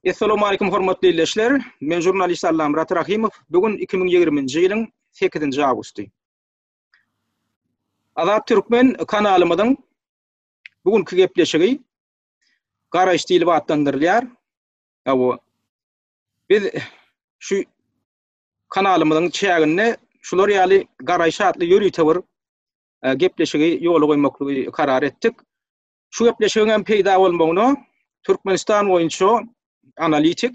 Essalamu aleýkum hormatly ildeşler. Men žurnalist Allamyrat Rahymow. Bu gün 2020-nji ýylyň 8-nji awgusty. Azat Türkmen kanalymyzyň bu günki gepleşigi Garaýyş diýlip atlandyrylýar. Hawa. Biz şu kanalymyzyň çäginde şular ýaly Garaýyş atly ýörite bir e, gepleşigi ýola goýmaklygy karar etdik. Şu gepleşigiň hem peýda bolmagyna Türkmenistan boýunça analitik,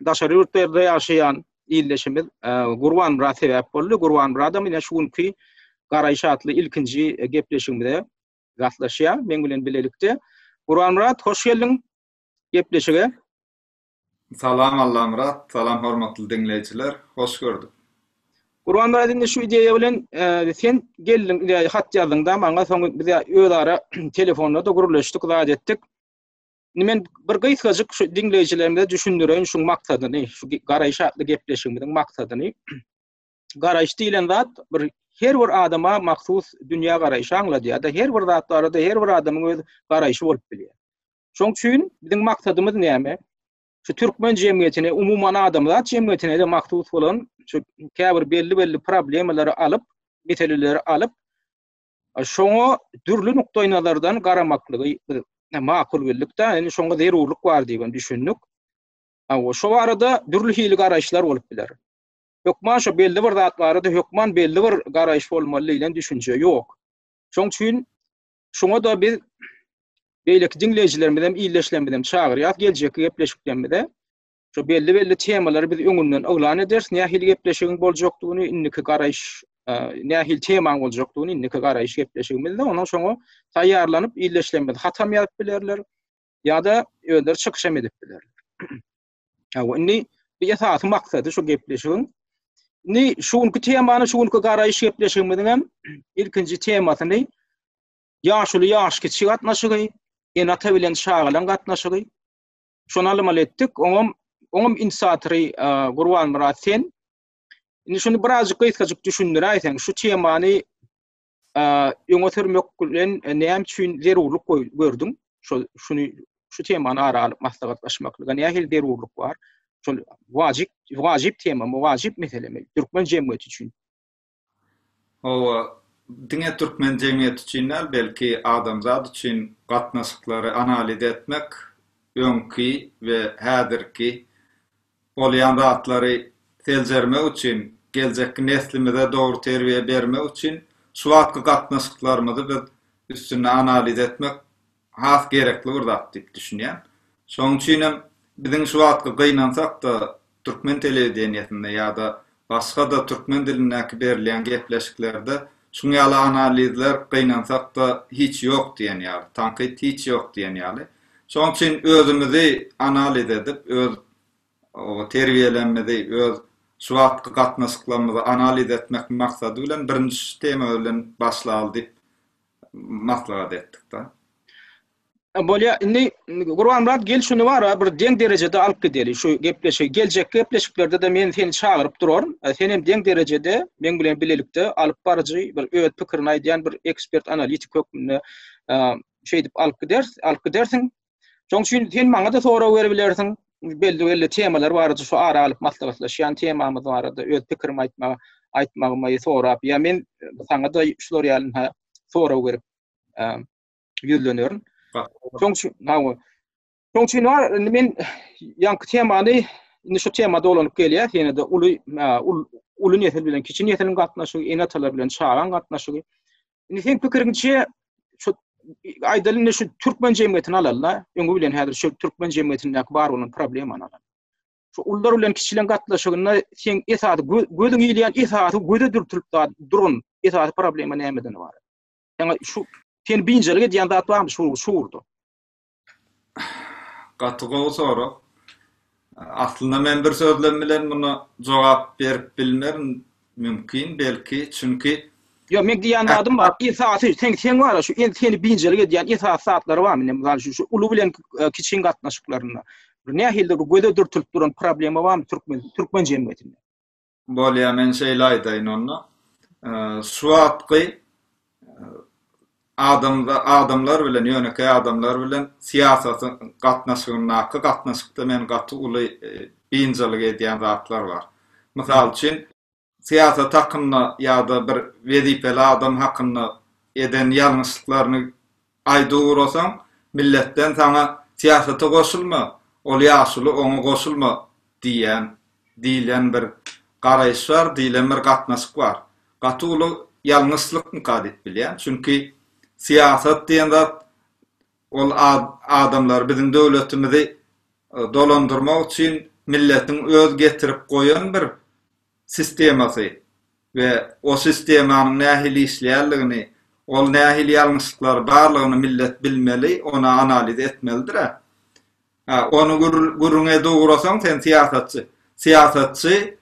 daşary ýurtlarda ýaşaýan ildeşimiz e, Gurban Myrat sebäp boldy. Gurban Myradam ine şu günki Garaýyş atly ilkinji gepleşigimize gatnaşýar meň bilen bilelikde. Gurban Myrat, hoş geldiň gepleşige. Salam Allamyrat, salam hormatly diňleýjiler, hoş gördük. Gurbanmyrat indi şu ideýa bilen e, sen geldiň, ideýa hat ýazdyň-da maňa, soň biz özara telefonda-da gürleşdik, zat etdik. Indi men bir gysgajyk şu diňleýjilerimize düşündireýin şuň maksadyny, şu Garaýyş atly gepleşigimiziň maksadyny. Garaýyş diýlen zat bir her bir adama mahsus dünýä garaýşy aňladýar-da, her bir zat barada her bir adamyň öz garaýşy bolup bilýär. Şoň üçin biziň maksadymyz näme? Şu türkmen jemgyýetine, umuman adamzat jemgyýetine-de mahsus bolan şu käbir belli-belli problemalary alyp, meseleleri alyp, şoňa dürli nukdaýnazardan garamaklygy biz makul bildik-de, indi şoňa zerurlyk bar diýip hem düşündik. Hawa, şo barada dürli hili garaýyşlar bolup biler. Hökman şo belli bir zat barada hökman belli bir garaýyş bolmaly diýlen düşünje ýok. Şoň üçin Şoňa-da biz beýleki diňleýjilerimizem, ildeşlerimizem çagyrýas geljekki gepleşiklerimize. Şu belli-belli temalary biz öňünden yglan ederis, nähili gepleşigiň boljakdygyny, indiki garaýyş, e, nähili temaň boljakdygyny indiki garaýyş gepleşigimizde onuň şoňa taýýarlanyp ildeşlerimiz hatam ýazyp bilerler ýa-da özleri çykyş hem edip bilerler. Hawa, indi bu esasy maksady şu gepleşigiň. Indi şu günki temany, şu günki garaýyş gepleşigimiziň hem ilkinji temasyny ýaşuly ýaş kiçi gatnaşygy, ene-ata bilen çagalaň gatnaşygy. Şony almaly etdik. Oňam oňam inisiatory Gurbanmyrat sen. Indi şuny birazjyk gysgajyk düşündiräýseň, şu temany öňe sürmek bilen näme üçin zerurlyk gördüň? Şol şuny şu temany ara alyp maslahatlaşmaklyga nähili zerurlyk bar? Şol wajyp wajyp tema, wajyp meselemi türkmen jemgyýeti üçin? Hawa, diňe türkmen jemgyýeti üçin däl, belki adamzat üçin gatnaşyklary analiz etmek öňki we häzirki Bolýan zatlary seljermek üçin, geljekki neslimize dogry terbiýe bermek üçin şu wagtky gatnaşyklarymyzy biz üstünde analiz etmek has gerekli bir zat diýip düşünýän. Şonuň üçinem biziň şu wagtky gynansak-da türkmen telewideniýesinde ýa-da başga-da türkmen dilindäki berilýän gepleşiklerde şuň ýaly analizler gynansak-da hiç ýok diýen ýaly, tankyt hiç ýok diýen ýaly. Şonuň üçin özümizi analiz edip, öz terbiýelemmizi, öz şu wagtky gatnaşyklarymyzy analiz etmek maksady bilen birinji şu tema bilen başlaly diýip maslahat etdik-de. Bolýa, indi Gurbanmyrat gel şuny bar-a bir deň derejede alyp gideli şu gepleşigi. Geljekki gepleşiklerde-de men seni çagyryp duraryn. Sen hem deň derejede meň bilen bilelikde alyp baryjy, bir öz pikirini aýdýan bir ekspert analitik hökmünde şeýdip alyp gideris, alyp gidersiň. Şoň üçin sen maňa-da sorag berip bilersiň. Belli-belli temalar barada şu ara alyp maslahatlaşýan temamyz barada öz pikirimi aýtmaga aýtmagymy sorap, ýa men saňa-da şular ýaly ha sorag berip ýüzlenerin. Şoň üçin, hawa. Şoň üçin bar, indi men ýaňky temany indi şu tema dolanyp gelýär, ýene-de uly uly nesil bilen kiçi nesiliň gatnaşygy, ene-atalar bilen çagaň gatnaşygy. Indi seň pikiriňçe şu aýdaly indi şu türkmen jemgyýetini alaly-da, öňi bilen häzir şu türkmen jemgyýetindäki bar bolan problemany alaly. Şu ulular bilen kiçileň gatnaşygynda seň esasy gözüň ilýän esasy göze dürtülip duran esasy problema nämeden ybarat? Ýa şu seni biynjalyk edýän zat barmy şu şu ugurda? Gaty gowy sorag. Aslynda men bir sözlem bilen muna jogap berip bilmerin mümkin belki çünki Ýok meň diýýän zadym bar esasy sen sen bar şu seni biynjalyk edýän esasy zatlary barmy indi mysal üçin şu uly bilen e, kiçiň gatnaşyklarynda bir nähilidir bir göze dürtülip duran problema barmy türkmen türkmen jemgyýetinde? Bolýa men şeýle aýdaýyn onda. Şu wagtky e, Adamda adamlar bilen ýönekeý adamlar bilen syýasatyň gatnaşygyndaky gatnaşykda meni gaty uly biynjalyk edýän zatlar bar. Mysal üçin, syýasat hakynda ýa-da bir wezipeli adam hakynda eden ýalňyşlyklaryny aýdyp ugrasaň, milletden saňa syýasata goşulma, ol ýaşuly oňa goşulma diýýän diýlen bir garaýyş bar, diýlen bir gatnaşyk bar. Gaty uly ýalňyşlykmyka diýip bilýän. Çünki syýasat diýen zat ol adamlary biziň döwletimizi dolandyrmak üçin milletiň öz getirip goýan bir sistemasy we o sistemanyň nähili işleýänligini, ol nähili ýalňyşlyklary barlygyny millet bilmeli, ony analiz etmelidir-ä. Hä, ony gürrüň edip ugrasaň sen syýasatçy. Syýasatçy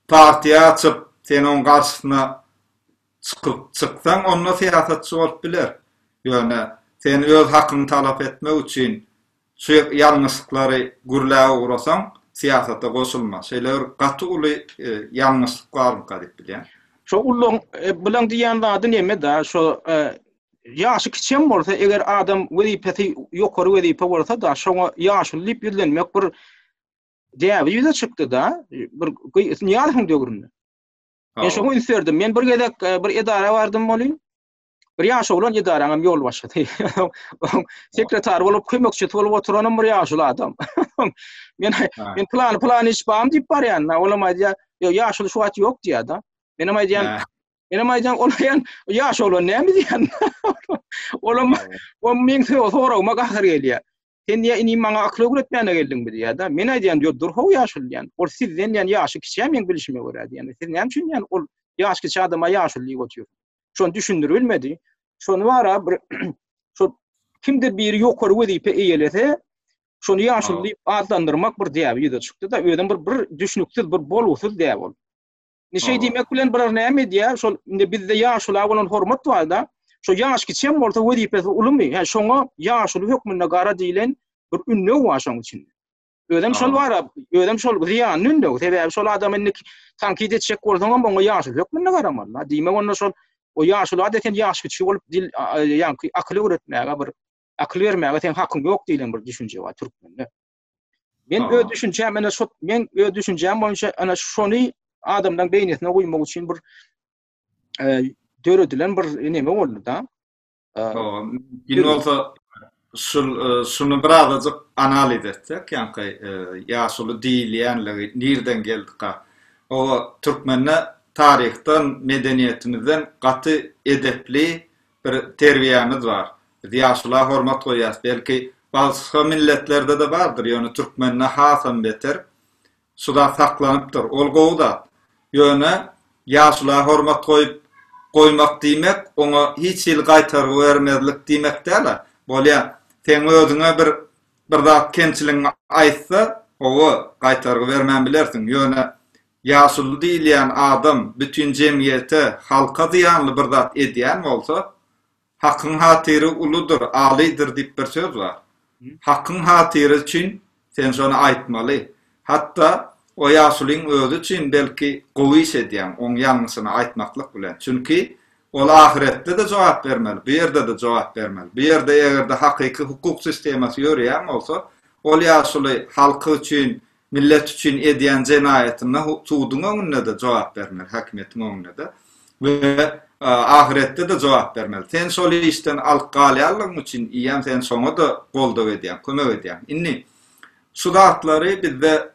partiýa açyp, sen oň garşysyna çykyp çyksaň, onda syýasatçy bolup biler. Ýöne sen öz hakyňy talap etmek üçin şu ýalňyşlyklary gürläp ugrasaň, syýasata goşulma. Şeýle bir gaty uly ýalňyşlyk barmyka diýip bilýän. Şo ullaň bilen diýýän zady neme-da, şo Ýaşy kiçem bolsa, eger adam wezipesi ýokary wezipe bolsa-da, şoňa ýaşuly diýip ýüzlenmek bir däbi ýüze çykdy-da, bir Nyýazowyň döwründe. Men şoňa üns berdim. Men bir gezek e, bir edara bardym welin, bir ýaş oglan edaraň hem ýolbaşçysy. Sekretar bolup, kömekçisi bolup oturanam bir ýaşuly adam. Men men plany plany iş bam diýip barýan. Olam aýdýar, ýok, ýaşuly şu wagt ýok diýýär-de. Menem aýdýan, Menem aýdýan, ol aýan ýaş oglan näme diýýän? Olam o meň soragyma gahar gelýär. Sen diýýär, inim maňa akyl öwretmäne geldiňmi diýýär-de. Men aýdýan, ýok, dur how ýaşuly diýýän. Ol sizden diýýän ýaşy kiçä meň bilşime görä diýýän. Siz näme üçin diýýän ol ýaş kiçi adama ýaşuly diýip otyrsyňyz? Şony düşündirip bilmedi. Şony bara bir şo kimdir biri ýokary wezipe eýelese, şony ýaşuly diýip atlandyrmak bir däbi ýüze çykdy-da, özem bir bir düşnüksiz, bir bolgusyz däp ol. Indi şeý diýmek bilen bular näme edýär? Şol indi bizde ýaşula bolan hormat bar-da. Şo ýaş kiçem bolsa wezipesi ulumy? Hä, şoňa ýaşuly hökmünde gara diýlen bir ündew bar şoň içinde. Özem şol bar, özem şol zyýanly ündew. Sebäbi şol adam indi tankyt etjek bolsaňam oňa ýaşuly hökmünde garamaly. Diýmek onda şol o ýaşula-da sen ýaş kiçi bolup dil ýaňky akyl öwretmäge bir akyl bermäge seň hakyň ýok diýlen bir düşünje bar türkmende. Men öz düşünjäm ene şo men öz düşünjäm boýunça ana şony adamlaryň beýnisine guýmak üçin bir e, döredilen bir neme boldy da. Indi bolsa şul e, şuny birazajyk analiz etsek, ýaňky e, ýaşuly diýilýänligi nirden geldika? O türkmende taryhdan, medeniýetimizden gaty edepli bir terbiýämiz bar. Biz ýaşula hormat goýýas. Belki başga milletlerde-de bardyr, ýöne türkmende hasam beter şu zat saklanypdyr. Ol gowy zat. Ýöne ýaşula hormat goýup goýmak diýmek, oňa hiç hili gaýtargy bermezlik diýmek däl-ä. Bolýa, seň özüňe bir bir zat kemçiligiňi aýtsa, hawa, gaýtargy bermän bilersiň. Ýöne Ýaşuly diýilýän adam bütin jemgyýete, halka zyýanly bir zat edýän bolsa, Hakyň hatyry uludyr, alydyr diýip bir söz bar. Hakyň hatyry üçin sen şony aýtmaly. Hatda o ýaşulyň özi üçin belki gowy iş edýäň, oň ýalňyşyny aýtmaklyk bilen. Çünki ol ahyretde-de jogap bermeli, bu ýerde-de jogap bermeli. Bu ýerde eger-de hakyky hukuk sistemasy ýöreýän bolsa, ol ýaşuly halky üçin Millet üçin edýän jenaýatyna suduň öňünde-de jogap bermeli, häkimiýetiň öňünde-de we ahyretde-de jogap bermeli. Sen şol işden alyp galýanlygyň üçin iýem sen şoňa-da goldaw edýäň, kömek edýäň. Indi şu zatlary bizde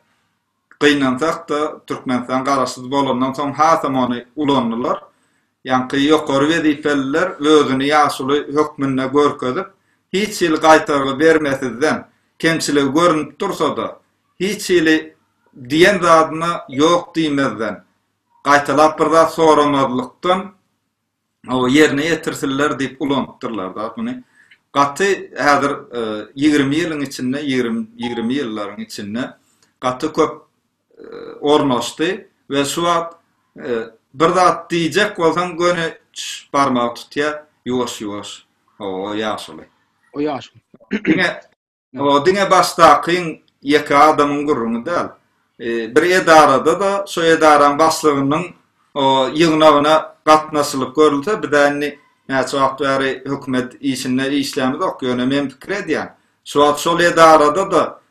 gynansak-da Türkmenistan garaşsyz bolandan soň hasam ony ulandylar. Ýaňky ýokary wezipeliler özüni ýaşuly hökmünde görkezip, hiç hili gaýtargy bermesizden, kemçiligi görnüp dursa-da, hiç hili diýen zadyna ýok diýmezden, gaýtalap bir zat soramazlykdan ýerine ýetirsinler diýip ulanypdyrlar-da muny. Gaty häzir 20 ýylyň içinde, 20 ýyllaryň içinde gaty köp ornaşdy we şu wagt bir zat diýjek bolsaň göni barmagy tutýar, ýuwaş-ýuwaş. O ýaşuly. O ýaşuly. Diňe o diňe başdakyň ýeke adamyň gürrüňi däl. Bir edarada-da şo edaraň başlygynyň o ýygnagyna gatnaşylyp görülse, biz-ä indi. näçe wagt bäri hökümet işinde işlämizok, ýöne men pikir edýän, şu wagt şol edarada-da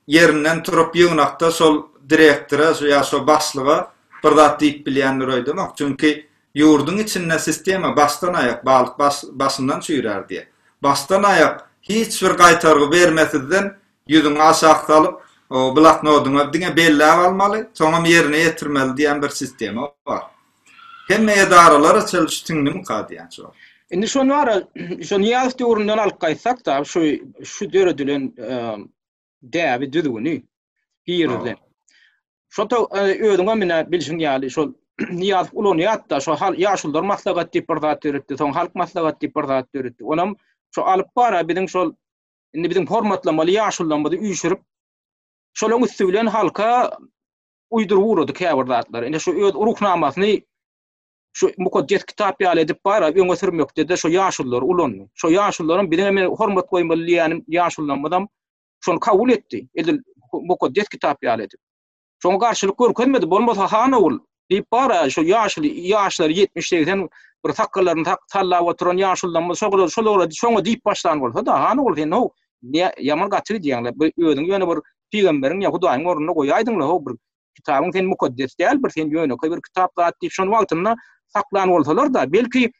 ýerinden turup ýygnakda şol direktora ýa şo başlyga bir zat diýip bilýändir öýdemok. Çünki ýurduň içinde sistema başdan aýak balyk başyndan çüýrär diýýär. Başdan aýak hiç bir gaýtargy bermesizden ýüzüňi aşak salyp, bloknodyňa diňe belläp almaly, soňam ýerine ýetirmeli diýen bir sistema bar. Hemme edaralara çenli şu siňdimika diýýän şu wagt. Indi şony bara, şo Nyýazow döwründen alyp gaýtsak-da, şu şu döredilen däbi, düzgüni girizilen. Şo ta özüňem ine bilşiň ýaly şol Nyýazow ulanýardy-da, şo hal ýaşulular maslahat diýip bir zat döretdi, soň halk maslahat diýip bir zat döretdi. Onam şo alyp bara biziň şol indi biziň hormatlamaly ýaşulularymyzy üýşürip, şolaryň üsti bilen halka uýduryp ugrady käbir zatlary. Indi şu öz ruhnamasyny şu mukaddes kitap ýaly edip bara öňe sürmekde-de şu ýaşululary ulandy. Şu ýaşulularyň biziň hem hormat goýmaly diýýänim ýaşulularymyzam şony kabul etdi. Edil mukaddes kitap ýaly edip. Şoňa garşylyk görkezmedi. Bolmasa han ogul diýip bara şu ýaşuly ýaşlary 70-80 bir sakgallaryny sallap oturan ýaşulularymyz şolara şolara şoňa diýip başlan bolsa-da han ogul sen how ýaman gaty gidýäň-le. Bir özüňi ýöne bir pygamberiň ýa Hudaýyň ornuna goýaýdyň-la how bir kitabyň sen mukaddes däl bir sen ýönekeý bir kitap zat diýip şony wagtynda saklan bolsalar-da belki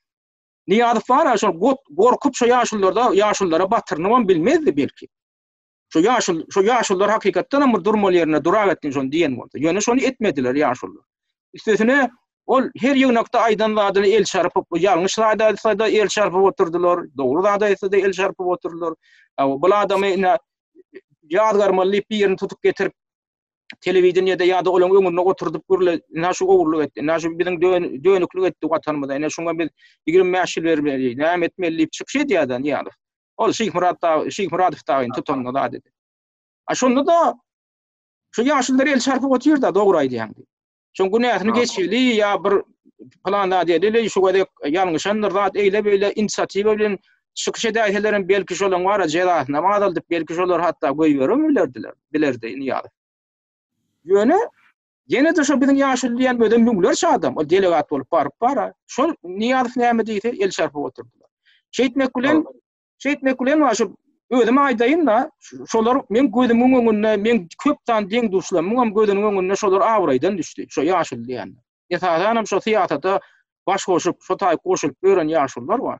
Nyýazow bar-a şol gorkup şo ýaşulularda ýaşululara batyrynybam bilmezdi belki. Şo ýaşul şo ýaşulular hakykatdan hem bir durmaly ýerinde duragetdin şony diýen bolsa. Ýöne şony etmediler ýaşulular. Üstesine ol her ýygnakda aýdan zadyny el çarpyp, ýalňyş zat aýtsa-da el çarpyp oturdylar, dogry zat aýtsa-da el çarpyp oturdylar. Bu adamy ine ýazgarmaly diýip birini tutup getirip telewideniýede ýa-da olaryň öňünde oturdyp gürle, ine şu ogurlyk etdi, ine şu biziň dönüklik etdi watanymyza, ine şuňa biz 25 ýyl bermeli, näme etmeli diýip çykyş edýär-de Nyýazow. Ol Şyhmyrat dagy, Şyhmyradow dagyny tutanda zat edi. A şonda-da şu ýaşulular el çarpyp otyr-da, dogry aýdýaň diýip. Şoň günäsini geçeli ýa bir plan zat edeli, şu gezek ýalňyşandyr zat eýle-beýle inisiatiwa bilen çykyş edäýselerem belki şolaň bar-a jezasynam azaldyp, belki şolar hatda goýberem bilerdiler, bilerdi Nyýazow. Ýöne ýene-de şo biziň ýaşuly diýen özem müňlerçe adam, ol delegat bolup baryp bar-a. Şol Nyýazow näme diýse el çarpyp oturdylar. Şeýtmek bilen Şeýtmek bilen bar şu özüm aýdaýyn-da, şolar meň gözümiň öňünde, meň köp sany deň-duşlarymyň hem gözüniň öňünde şolar abraýdan düşdi, şo ýaşuly diýenler. Esasan hem şo syýasata baş goşup, şo taýy goşulyp ýören ýaşulular bar.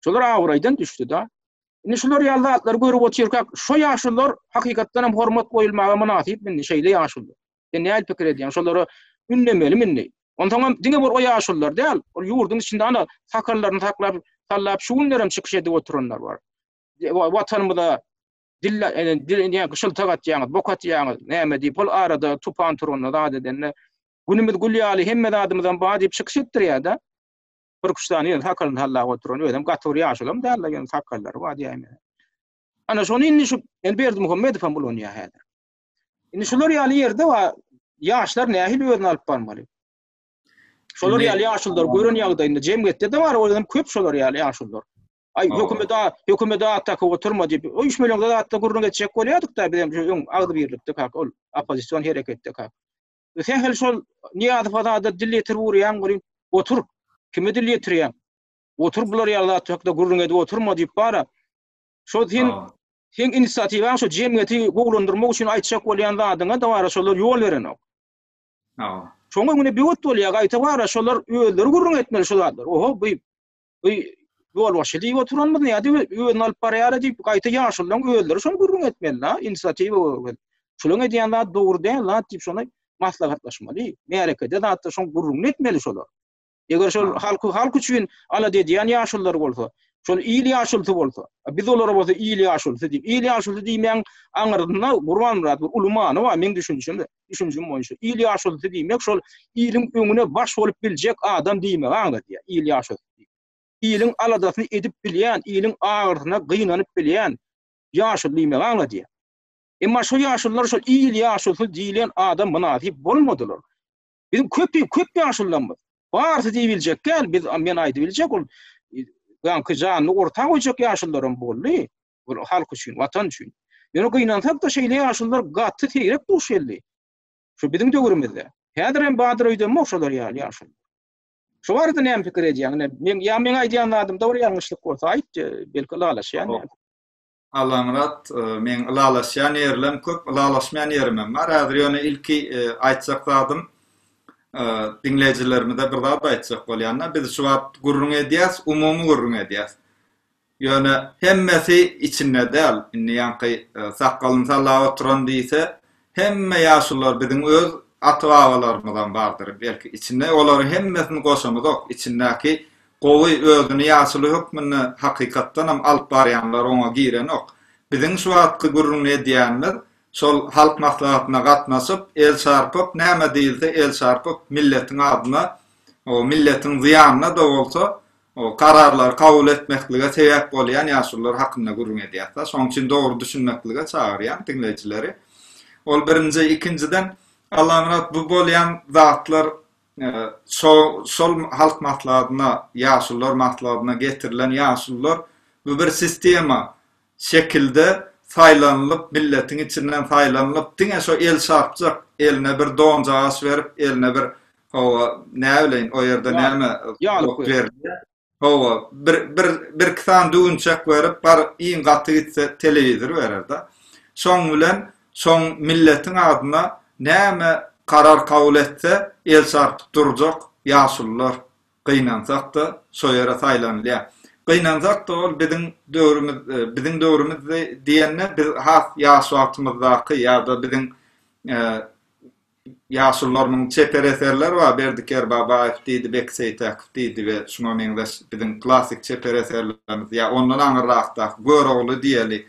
Şolar abraýdan düşdi-de. Indi şular ýaly zatlary görüp otyrkak, şo ýaşulular hakykatdan hem hormat goýulmaga mynasyp indi şeýle ýaşulular. Sen nähili pikir edýäň? Şolara ündemelimi indi? Onsoňam diňe bir o ýaşulular däl, ol ýurduň içinde ana sakallaryny saklap, sallap şu günlerem çykyş edip oturanlar bar. Watanymyza dil dil ýa şyltak atýaňyz, bok atýaňyz, näme diýip, ol arada tupan turanda zat edende günümiz gül ýaly hemme zadymyzam bar diýip çykyş etdirýär-de. Bir üç sany ýöne sakalyny sallap oturan, özem gaty bir ýaşulam däl-de, ýöne sakallary bar diýäýmeli. Ana şony indi şu Berdimuhamedow hem ulanýar häzir. Indi şular ýaly ýerde wa ýaşlar nähili özüni alyp barmaly? Şolar ýaly ýaşulular gören ýagdaýynda jemgyýetde de bar, olar köp şolar ýaly ýaşulular. Aý hökümete hökümete at dakyp oturma diýip, o üç million zatda gürrüň etjek bolýardyk da biz hem şu öň agzybirlikde kak ol oppozision hereketde kak. Sähel şol Nyýazowa zada dil ýetirip urýaň welin, otur. Kime dil ýetirýäň? Otur bular ýaly zat hakda gürrüň edip oturma diýip bara. Şol sen Seň inisiatiwaň şo jemgyýeti gowulandyrmak üçin aýtjak bolýan zadyňa-da bara şolar ýol berenok. Hawa. Şoň öňüne böwet bolýar, gaýta bara şolar özleri gürrüň etmeli şo zatlary. Oho, bu bu ýolbaşçy diýip oturanymyz näde özüni alyp barýar diýip, gaýta ýaşulularyň özleri şony gürrüň etmeli-da, inisiatiwa görkezip. Şolaryň edýän zady dogry däl zat diýip şony maslahatlaşmaly. Märekede zatda şoň gürrüňini etmeli şolar. Eger şol halky halk üçin alada edýän ýaşulular bolsa, şol il ýaşulusy bolsa, biz olara bolsa il ýaşulusy diýip, il ýaşulusy diýmegiň aňyrsynda Gurbanmyrat bir uly many bar meň düşünişim, düşünjim boýunça. Il ýaşulusy diýmek şol iliň öňüne baş bolup biljek adam diýmegi aňladýar, il ýaşulusy diýip. Iliň aladasyny edip bilýän, iliň agyrsyna gynanyp bilýän ýaşuly diýmegi aňladýar. Emma şol ýaşulular şol il ýaşulusy diýlen adam mynasyp bolmadylar. Biziň köp köp ýaşulularymyz. Barysy diýibiljek däl, biz men aýdybiljek ol ýaňky janyny orta goýjak ýaşulularam boldy. Ol halk üçin, watan üçin. Ýöne gynansak-da şeýle ýaşulular gaty seýrek duş geldi. Şu biziň döwrümizde. Häzir hem bardyr öýdemok şolar ýaly ýaşulular. Şu barada näme pikir edýäň? Ine, men ýa meň aýdýan zadymda bir ýalňyşlyk bolsa aýt, belki ylalaşýan. Allamyrat, meň ylalaşýan ýerlem köp, ylalaşmaýan ýerimem bar. Häzir ýöne ilki aýtjak zadym, diňleýjilerimize bir zat aýtjak bolýan-da, biz şu wagt gürrüň edýäs, umumy gürrüň edýäs. Ýöne hemmesi içinde däl. Indi ýaňky sakgalyny sallap oturan diýse, hemme ýaşulular biziň öz ata-babalarymyzam bardyr belki içinde. Olaryň hemmesini goşamyzok. Içindäki gowy özüni ýaşuly hökmünde hakykatdanam alyp barýanlar oňa girenok. Biziň şu wagtky gürrüňini edýänimiz şol Halk Maslahatyna gatnaşyp, el çarpyp, näme diýilse el çarpyp, milletiň adyna, milletiň zyýanyna-da bolsa, O kararlary kabul etmeklige sebäp bolýan ýaşulular hakynda gürrüň edýäs-de. Şonuň üçin dogry düşünmeklige çagyrýan diňleýjileri. Ol birinji, ikinjiden Allamyrat bu bolýan zatlar şo şol halk maslahatyna, ýaşulular maslahatyna getirilen ýaşulular bu bir sistema şekilde saýlanylyp milletiň içinden saýlanylyp diňe şo el çarpjak eline bir donjagaş berip eline bir Hawa, näbileýin, o ýerde näme ýalyk berilýär. Hawa, bir bir birki sany düwünçek berip, bar iň gaty gitse telewizor berer-de. Şoň bilen şoň milletiň adyna näme karar kabul etse, el çarpyp durjak ýaşulular gynansak-da şo ýere saýlanylýar. Gynansak-da ol biziň döwrümiz, biziň döwrümiz diýende biz has ýaş wagtymyzdaky ýa-da biziň Ýaşulularymyň çeper eserleri bar, Berdi Kerbabaýew diýdi, Beki Seýtäkow diýdi we şuňa meňzeş biziň klassyk çeper eserlerimiz ýa ondan aňyrrakdaky Görogly diýeli,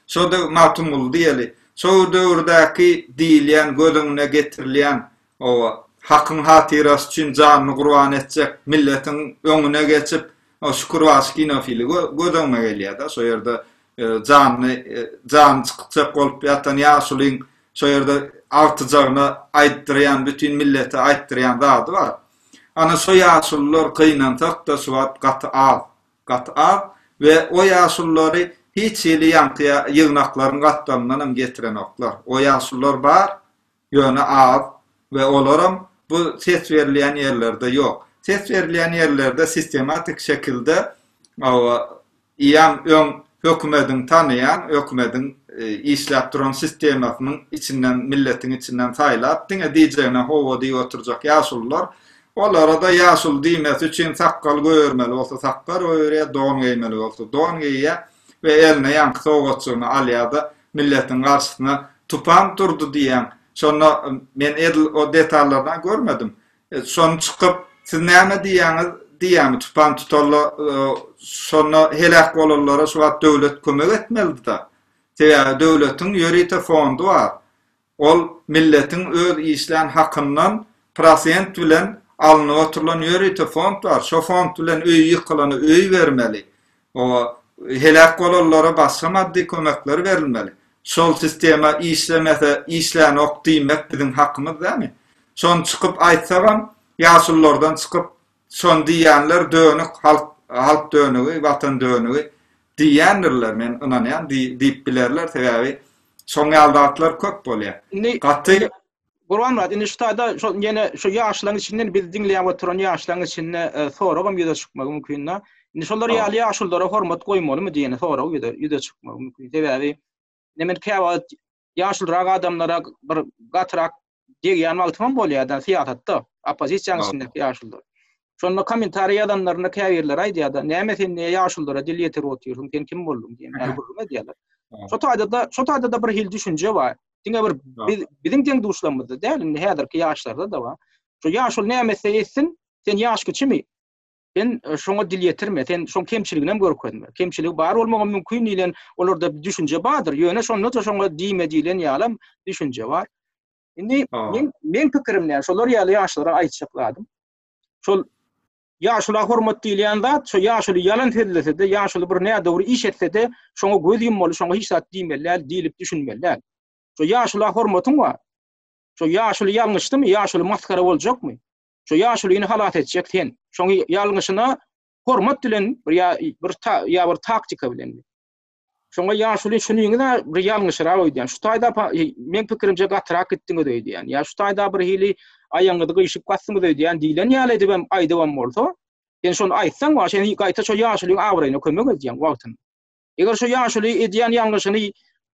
şo döw Magtymguly diýeli, şo döwürdäki diýilýän, göz öňüne getirilýän oba Hakyň hatyrasy üçin janyny gurban etjek milletiň öňüne geçip, o Şükürbaşy kinofili göz öňüme gelýär-de, şo ýerde janyny jany çykjak bolup ýatan ýaşulyň Şo ýerde agtyjagyna aýtdyrýan, bütin millete aýtdyrýan zady bar. Ana şo ýaşulular gynansak-da şu wagt gaty az. Gaty az we o ýaşululary hiç hili ýaňky ýygnaklaryň gapdalyndan hem getirenoklar. O ýaşulular bar, ýöne az we olaram bu ses berilýän ýerlerde ýok. Ses berilýän ýerlerde sistematik şekilde Eýýäm öň hökümediň tanaýan, hökümediň işläp duran sistemasynyň içinden, milletiň içinden saýlap, diňe diýjegine hawa diýip oturjak ýaşulular, olara-da ýaşuly diýmesi üçin sakgal goýbermeli bolsa sakgal goýberýär, don geýmeli bolsa don geýýär we eline ýaňky sowgatjygyny alýar-da, milletiň garşysyna tupan turdy diýýäň. Şonda men edil o detallaryny görmedim. Şony çykyp, siz näme diýýäňiz diýýämi, tupan tutanda şonda heläk bolanlara şu wagt döwlet kömek etmelidi-da. Sebäbi döwletiň ýörite fondy bar. Ol milletiň öz işlän hakyndan prosent bilen alnyp oturylan ýörite fond bar. Şo fond bilen öýi ýykylana öý bermeli. Oba heläk bolanlara başga maddy kömekler berilmeli. Şol sistema işlemese işlänok diýmek biziň hakymyz dämi? Şony çykyp aýtsagam ýaşululardan çykyp şony diýýänler dönük halk halk dönügi watan dönügi diýýändirler men ynanýan diýip bilerler sebäbi şoň ýaly zatlar köp bolýar. Gaty Gurbanmyrat, indi şu taýda şol ýene şu ýaşlaryň içinden bizi diňleýän oturan ýaşlaryň içinde e, soragam ýüze çykmagy mümkin-de. Indi şolar ýaly ýaşululara hormat goýmalymy diýen sorag ýüze ýüze çykmagy mümkin. Sebäbi indi men käwagt ýaşulurak adamlara bir gatyrak degýän wagtym bolýar-da syýasatda, oppozisiýanyň içindäki ýaşulular. Şonda kommentariý ýazanlarynda käbirleri aýdýar-da, näme sen niýe ýaşululara dil ýetirip otyrsyň, sen kim bolduň diýen ýaly gürrüň edýärler. Şo taýda-da, şo taýda-da bir hili düşünje bar. Diňe bir biz biziň deň duşlarymyzda däl, indi häzirki ýaşlarda-da bar. Şu ýaşuly näme etse etsin, sen ýaş kiçimi? Sen e, şoňa dil ýetirme, sen şoň kemçiligini hem görkezme. Kemçiligi bar bolmagy mümkin diýlen olarda bir düşünje bardyr. Ýöne şonda-da şoňa diýme diýlen ýalam düşünje bar. Indi men men pikirim näme? Şolar ýaly ýaşlara aýtjak zadym. Şol Ýaşula hormat diýilýän zat, şo ýaşuly ýalan sözlese-de, ýaşuly bir nädogry iş etse-de, şoňa göz ýummaly, şoňa hiç zat diýmeli däl diýlip düşünmeli däl. Şo ýaşula hormatyň bar. Şo ýaşuly ýalňyşdymy, ýaşuly masgara boljakmy? Şo ýaşulyny halas etjek sen. Şoň ýalňyşyna hormat bilen bir ýa bir ýa bir taktika bilen. Şoňa ýaşuly şunyňyz-a bir ýalňyşyrak öýdýän. Şu taýda meň pikirimçe gatyrak gitdiňiz öýdýän. Ýa şu taýda bir hili aýagyňyzy gyşyp basdyňyz öýdýän diýlen ýaly edibem aýdybam bolsa, sen şony aýtsaň wah, sen gaýta şo ýaşulyň abraýyna kömek edýäň wagtynda. Eger şo ýaşuly edýän ýalňyşyny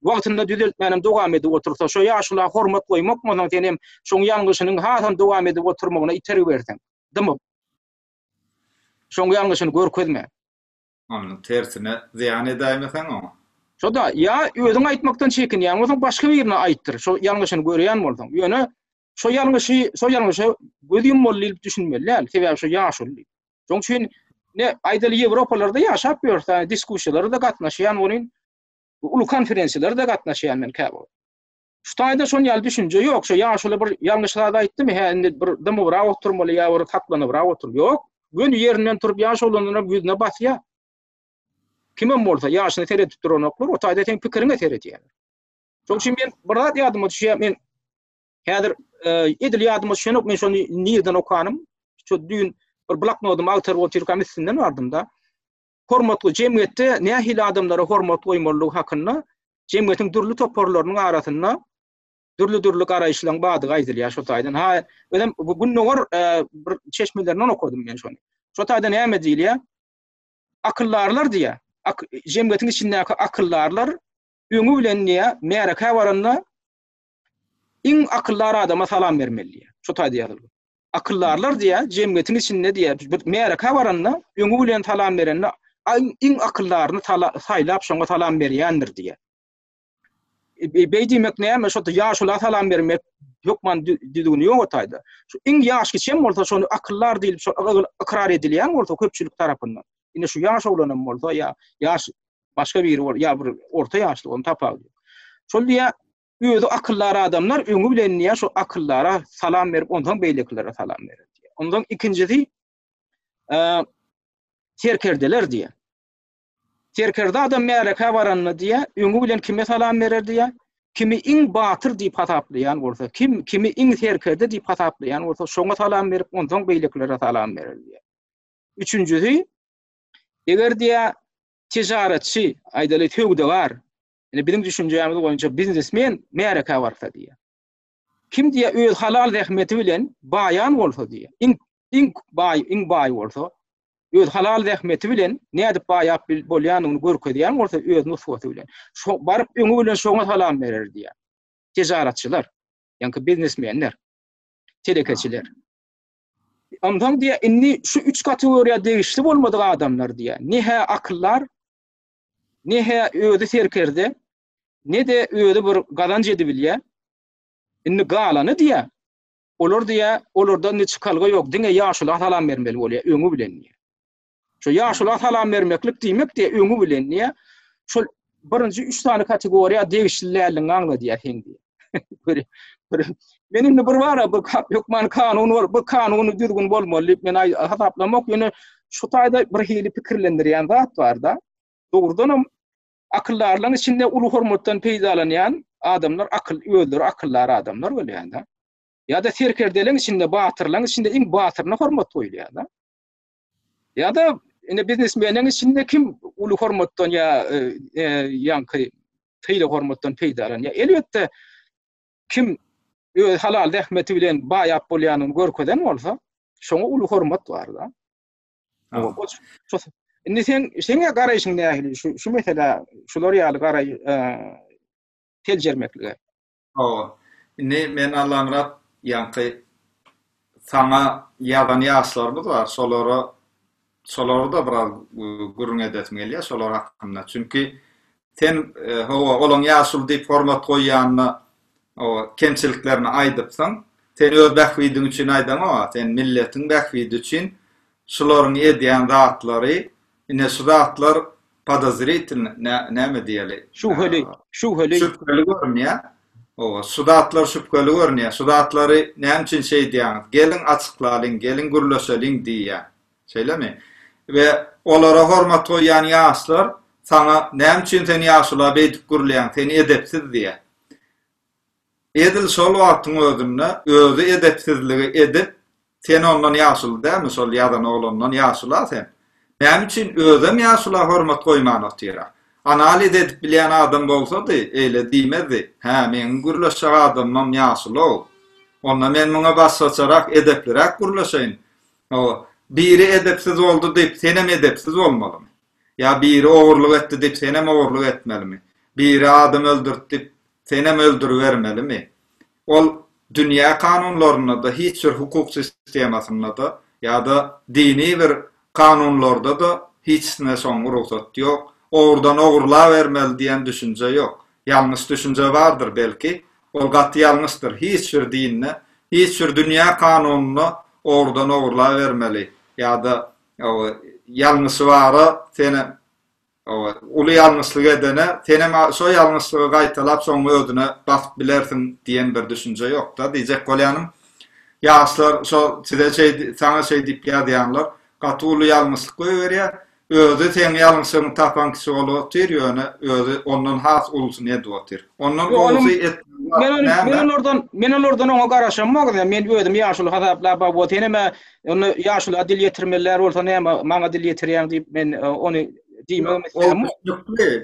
wagtynda düzeltmänem dowam edip otursa, şo ýaşula hormat goýmak bolsaň senem şoň ýalňyşynyň hasam dowam edip oturmagyna itergi berseň, dymyp. Şoň ýalňyşyny görkezme. Onuň tersine zyýan edäýmeseň oňa. Şo-da, ýa özüň aýtmakdan çekinýän bolsaň, başga birine aýtdyr, şo ýalňyşyny görýän bolsaň. Ýöne şo ýalňyşy, şo ýalňyşa göz ýummaly diýlip düşünmeli däl, sebäbi şo ýaşuly. Şoň üçin ne aýdaly Ýewropalarda ýaşap ýörse, diskussiýalara-da gatnaşýan welin, uly konferensiýalara-da gatnaşýan men käwagt. Şu taýda şon ýaly düşünje ýok. Şo ýaşuly bir ýalňyş zat aýtdymy, hä indi bir dymybrak oturmaly ýa bir saklanybrak otur. Ýok. Göni ýerinden turup ýaş oglanlaram ýüzüne basýar. Kimem bolsa ýaşyna seredip duranoklar, o taýda seň pikiriňe seredýärler. Şoň üçin men bir zat ýadyma düşýär, men häzir e, edil ýadyma düşenok, men şony nirden okanym. Şu düýn bir bloknodymy agtaryp otyrkam üstünden bardym-da. Hormatly jemgyýetde nähili adamlara hormat goýmalydygy hakynda jemgyýetiň dürli toparlarynyň arasynda dürli-dürli garaýyşlaryň bardygy aýdylýar şo taýdan. Ha, özem bu gündogar e, bir çeşmelerinden okadym men şony. Şo taýda näme diýilýär? Akyldarlar diýýär. Ak, jemgyýetiň içindäki akyldarlar öňi bilen diýýär, märekä baranda iň akyldar adama salam bermeli diýýär. Şo taýda ýazylgy. Akyldarlar diýýär, jemgyýetiň içinde diýýär, bir märekä baranda öňi bilen salam berende iň akyldaryny saýlap şoňa salam berýändir diýýär. E, beý diýmek näme? Şo ýaşula salam bermek hökman düzgüni ýok o taýda. Şu iň ýaş kiçem bolsa şony akyldar diýlip şo ykrar edilýän bolsa köpçülik tarapyndan. Indi şu ýaş oglanam bolsa ýa ýaş başga biri bol ýa bir orta ýaşly onuň tapawudy ýok. Şol diýýär, özi akyldar adamlar öňi bilen diýýär, şo akyldara salam berip, onsoň beýlekilere salam berer diýýär. Onsoň ikinjisi e, serkerdeler diýýär. Serkerde adam märekä baranda diýýär, öňi bilen kime salam berer diýýär? Kimi iň batyr diýip hasaplaýan bolsa, kim kimi iň serkerde diýip hasaplaýan bolsa, şoňa salam berip, onsoň beýlekilere salam berer diýýär. Üçünjisi, eger diýýär, tijaretçi, aýdaly söwdagar, indi biziň düşünjämiz boýunça biznesmen märekä barsa diýýär. Kim diýýär, öz halal zähmeti bilen baýan bolsa diýýär. Iň iň baý, iň baý bolsa, öz halal zähmeti bilen nädip baýap bolýanyny görkezýän bolsa öz nusgasy bilen. Şo baryp öňi bilen şoňa salam berer diýýär. Tijaretçiler, ýaňky biznesmenler, telekeçiler. Onsoň diýýär, indi şu üç kategoriýa degişli bolmadyk adamlar diýýär. Ne-hä akyldar, ne-hä özi serkerde, ne-de özi bir gazanç edibilýär. Indi galany diýýär, olar diýýär, olarda indi çykalga ýok, diňe ýaşula salam bermeli bolýar öňi bilen diýýär. Şo ýaşula salam bermeklik diýmek diýýär, öňi bilen diýýär. Şol birinji üç sany kategoriýa degişli däldigiňi aňladýar seň diýýär. Men indi bir bara bu hökman kanun bol, bu kanuny düzgün bolmaly diýip men hasaplamok, ýöne şu taýda bir hili pikirlendirýän zat bar-da. Dogrudanam akyldarlaryň içinde uly hormatdan peýdalanýan adamlar akyl özleri akyldar adamlar bolýar-da. Ýa-da serkerdeleň içinde batyrlaryň içinde iň batyryna hormat goýulýar-da. Ýa-da ine biznesmeniň içinde kim uly hormatdan ýa e, e, ýaňky sylag hormatdan peýdalanýar. Elbetde kim öz halal zähmeti bilen baýap bolýanyny görkezen bolsa, şoňa uly hormat bar-da. Indi sen seň garaýşyň nähili şu şu meselä şular ýaly garaý e, seljermeklige? Hawa. Indi men Allamyrat ýaňky saňa ýazan ýaşlarymyz bar, şolara şolary-da biraz gürrüň edesim gelýär şolar hakynda. Çünki sen hawa olaň ýaşuly diýip hormat goýýanyna hawa kemçiliklerini aýdypsyň. Sen öz bähbidiň üçin aýdaňok-a, sen milletiň bähbidi üçin şularyň edýän zatlary Ine şu zatlar podozritilny, näme diýeli? Şübheli, şübheli. Şübheli görünýär. Owa, şu zatlar şübheli görünýär. Şu zatlary näme üçin şeýdýäňiz? Geliň açyklalyň, geliň gürleşeliň diýýär. Şeýlemi? We olara hormat goýýan ýaşlar saňa näme üçin sen ýaşula beýdip gürleýäň, sen edepsiz diýýär. Edil şol wagtyň özünde özi edepsizligi edip, sen ondan ýaşuly dälmi, şol ýazan oglandan ýaşul-a sen. Näme üçin özem ýaşula hormat goýman otyr-a? Analiz edip bilýän adam bolsady, eýle diýmezdi. Hä, meň gürleşjek adamymam ýaşuly-ow. Onda men muňa başgaçarak, edepliräk gürleşeýin. Hawa, biri edepsiz boldy diýip, senem edepsiz bolmalymy? Ýa biri ogurlyk etdi diýip, senem ogurlyk etmelimi? Biri adam öldürdi diýip, senem öldüribermelimi? Ol dünýä kanunlarynda-da, hiç bir hukuk sistemasynda-da ýa-da dini bir kanunlarda-da hiçisine şoň rugsat ýok. Ogrudan ogurlabermeli diýen düşünje ýok. Ýalňyş düşünje bardyr belki, ol gaty ýalňyşdyr. Hiç bir dinde, hiç bir dünýä kanunynda ogrudan ogurlabermeli ýa-da ýalňyşy bara senem Hawa, uly ýalňyşlyk edene senem şo ýalňyşlygy gaýtalap soň özüne basyp bilersiň diýen bir düşünje ýokda. Diýjek bolýanym, ýaşlar şo size şeý saňa şeý diýip ýazýanlar gaty uly ýalňyşlyk goýberýär. Özi seň ýalňyşlygyňy tapan kişi bolup otyr, ýöne özi ondan has ulusyny edip otyr. Ondan gowusy etmeli zat näme? Men olardan men olardan oňa garaşamok. Men özümi ýaşuly hasaplap, hawa senem-ä Onda ýaşula dil ýetirmeliler bolsa näme maňa dil ýetirýäň diýip men e, ony diýmegim isledim.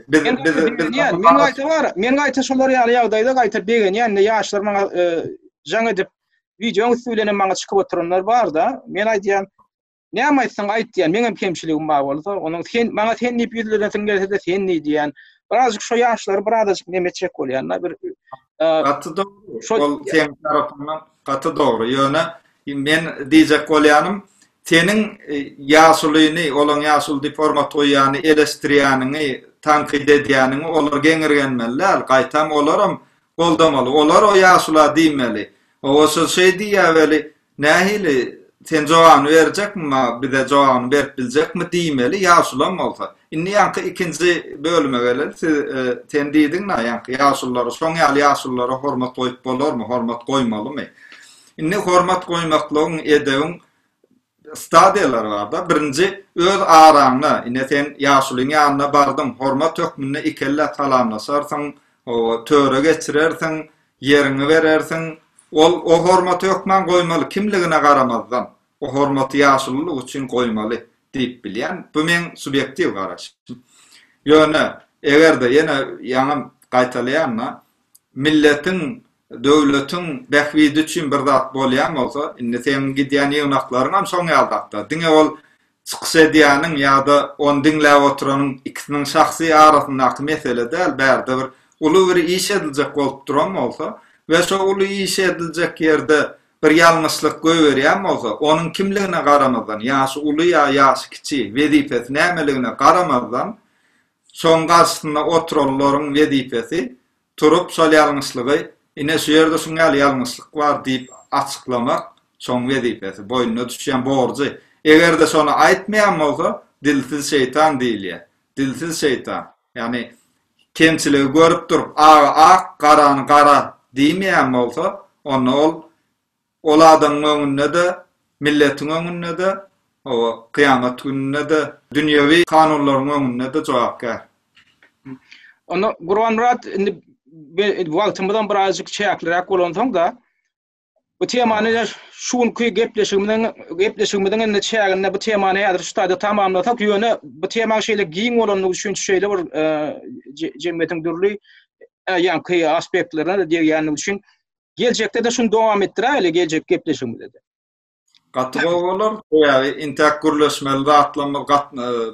Biz biz biz men gaýta bar, men gaýta şolar ýaly ýagdaýda gaýta begenýän, indi ýaşlar maňa e, jaň edip wideoň üsti bilen hem maňa çykyp oturanlar bar-da. Men aýdýan, näme aýtsaň aýt diýen, meňem kemçiligim bar bolsa, onuň sen maňa sen diýip ýüzlenesiň gelse-de sen diý diýen. Birazjyk şo ýaşlary birazajyk neme etjek bolýan-da bir e, Gaty dogry. Ol seň tarapyňdan gaty dogry. Ýöne Men diýjek bolýanym, seniň ýaşulyny, olaň ýaşuly diýip hormat goýýany, eleşdirýäniňi, tankyt edýäniňi olar geňirgenmeli däl, gaýtam olaram goldamaly. Olar o ýaşula diýmeli. Hawa, şol şeý diýýä weli, nähili, sen jogabyny berjekmi maňa, bize jogabyny berip biljekmi diýmeli, ýaşulam bolsa. Indi ýaňky ikinji bölüme geleli. Siz, sen diýdiň-dä, ýaňky ýaşululara, şoň ýaly ýaşululara hormat goýup bolarmy, hormat goýmalymy? Indi hormat goýmaklygyň, edebiň stadiýalary bar-da. Birinji, öz araňda, ine sen ýaşulyň ýanyna bardyň, hormat hökmünde ikellä salamlaşarsyň, hawa, töre geçirersiň, ýeriňi berersiň. Ol o hormaty hökman goýmaly, kimligine garamazdan. O hormaty ýaşululyk üçin goýmaly diýip bilýän. Bu meň subýektiw garaýşym. Ýöne, eger-de, ýene ýaňam gaýtalaýan-da, milletiň Döwletiň bähbidi üçin bir zat bolýan bolsa, indi seň gidýän ýygnaklaryňam şoň ýaly zatda. Diňe ol çykyş edýäniň ýa-da ony diňläp oturanyň ikisiniň şahsy arasyndaky mesele däl, bärde bir uly bir iş ediljek bolup duran bolsa we şo uly iş ediljek ýerde bir ýalňyşlyk goýberýän bolsa, onuň kimligine garamazdan, ýaşy uly ýa ýaşy kiçi, wezipesi nämeligine garamazdan, şoň garşysynda oturanlaryň wezipesi Turup şol ýalňyşlygy, ine şu ýerde şuň ýaly ýalňyşlyk bar diýip açyklamak şoň wezipesi, boýnuna düşýän borjy. Eger-de şony aýtmaýan bolsa, dilsiz şeýtan diýilýär. Dilsiz şeýtan. Ýagny kemçiligi görüp durup, agy ak, garany gara diýmeýän bolsa, onda ol Ol adamyň öňünde-de, milletiň öňünde-de, hawa, kyýamat gününde-de, dünýewi kanunlaryň öňünde-de jogapkär. Onda Gurbanmyrat indi wagtymyzam birazjyk çäkliräk bolansoň-da, bu temany şu günki gepleşigimiziň gepleşigimiziň indi çäginde bu temany häzir şu taýda tamamlasak, ýöne bu temaň şeýle giň bolanlygy üçin şeýle bir jemgyýetiň dürli ýaňky aspektlerine-de degýänligi üçin Geljekde-de şuny dowam etdiräýeli geljek gepleşigimizde-de. Gaty gowy bolar. Sebäbi intäk gürleşmeli zatlarymyz gat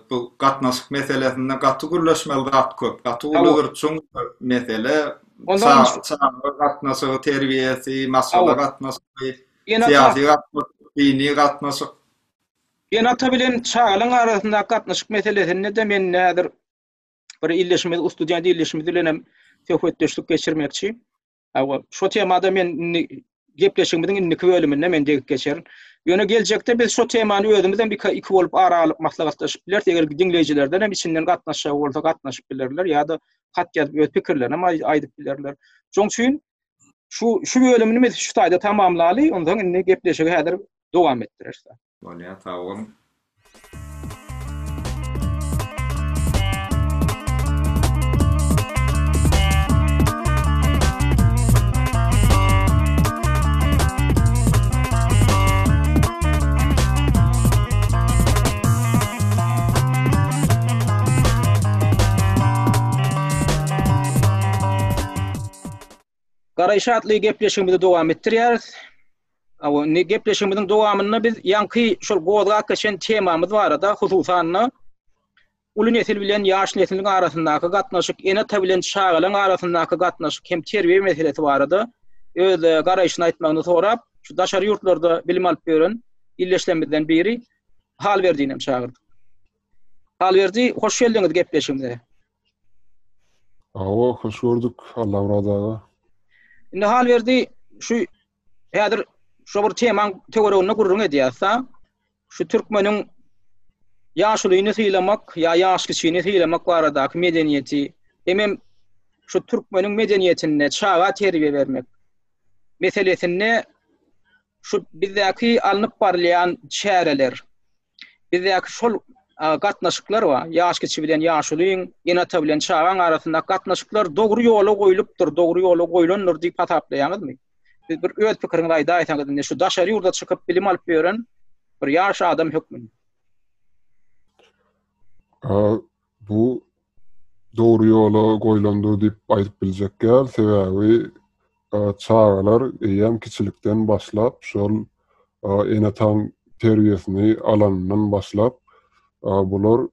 bu gatnaşyk meselesinde gaty gürleşmeli zat köp. Gaty uly bir çuň bir mesele. Ondan Çaga gatnaşygy, terbiýesi, maşgala gatnaşygy, syýasy gatnaşyk, dini gatnaşyk. Ene-ata bilen çagalaryň arasyndaky gatnaşyk meselesinde-de men häzir bir ildeşimiz, student ildeşimiz bilen hem söhbetdeşlik geçirmekçi. Hawa, şo temada men indi gepleşigimiziň indiki bölüminde men degip geçerin. Ýöne geljekde biz şo temany özümiz hem iki, iki bolup ara alyp maslahatlaşyp bileris. Eger diňleýjilerden hem içinden gatnaşjak bolsa gatnaşyp bilerler ýa-da hat ýazyp öz pikirlerini hem aýdyp bilerler. Şonuň üçin şu şu bölümini biz şu taýda tamamlaly, onsoň indi gepleşigi häzir dowam etdireris. Bolýar, sag boluň. Garaýyş atly gepleşigimizi dowam etdirýäris. Awa, indi gepleşigimiziň dowamynda biz ýaňky şol gozgap geçen temamyz barada, hususan-da, uly nesil bilen ýaş nesliň arasyndaky gatnaşyk, ene-ata bilen çagalaryň arasyndaky gatnaşyk hem terbiýe meselesi barada öz e, garaýşyny aýtmagyny sorap, şu daşary ýurtlarda bilim alyp ýören ildeşlerimizden biri Halberdini hem çagyrdyk. Halberdi, hoş geldiňiz gepleşigimize. Hawa, hoş gördük, Allamyrat aga. Indi Halberdi, şu häzir şu bir temaň töwereginde gürrüň edýäs-da. Şu türkmeniň ýaşulyny sylamak ýa ýaş kiçini sylamak baradaky medeniýeti, hemem şu türkmeniň medeniýetinde çaga terbiýe bermek meselesinde şu bizdäki alnyp barylýan çäreler, bizdäki şol gatnaşyklar bar, ýaş kiçi bilen ýaşulyň, ene-ata bilen çagaň arasyndaky gatnaşyklar dogry ýola goýlupdyr, dogry ýola goýlandyr diýip hasaplaýaňyzmy? Siz bir öz pikiriňizi aýdaýsaňyz indi şu daşary ýurda çykyp bilim alyp ýören bir ýaş adam hökmünde. Bu dogry ýola goýlandyr diýip aýdyp biljek däl, sebäbi çagalar eýýäm kiçilikden başlap şol ene-ataň terbiýesini alanyndan başlap bular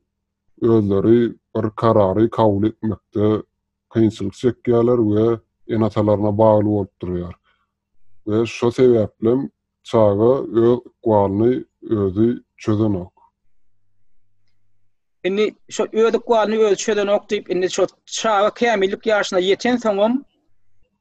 özleri bir karary kabul etmekde kynçylyk çekýärler we ene-atalaryna bagly bolup durýar. We şo sebäplem çaga öz ykbalyny özi çözenok. Indi şo öz ykbalyny özi çözenok diýip, indi şo çaga kämillik ýaşyna ýetensoňam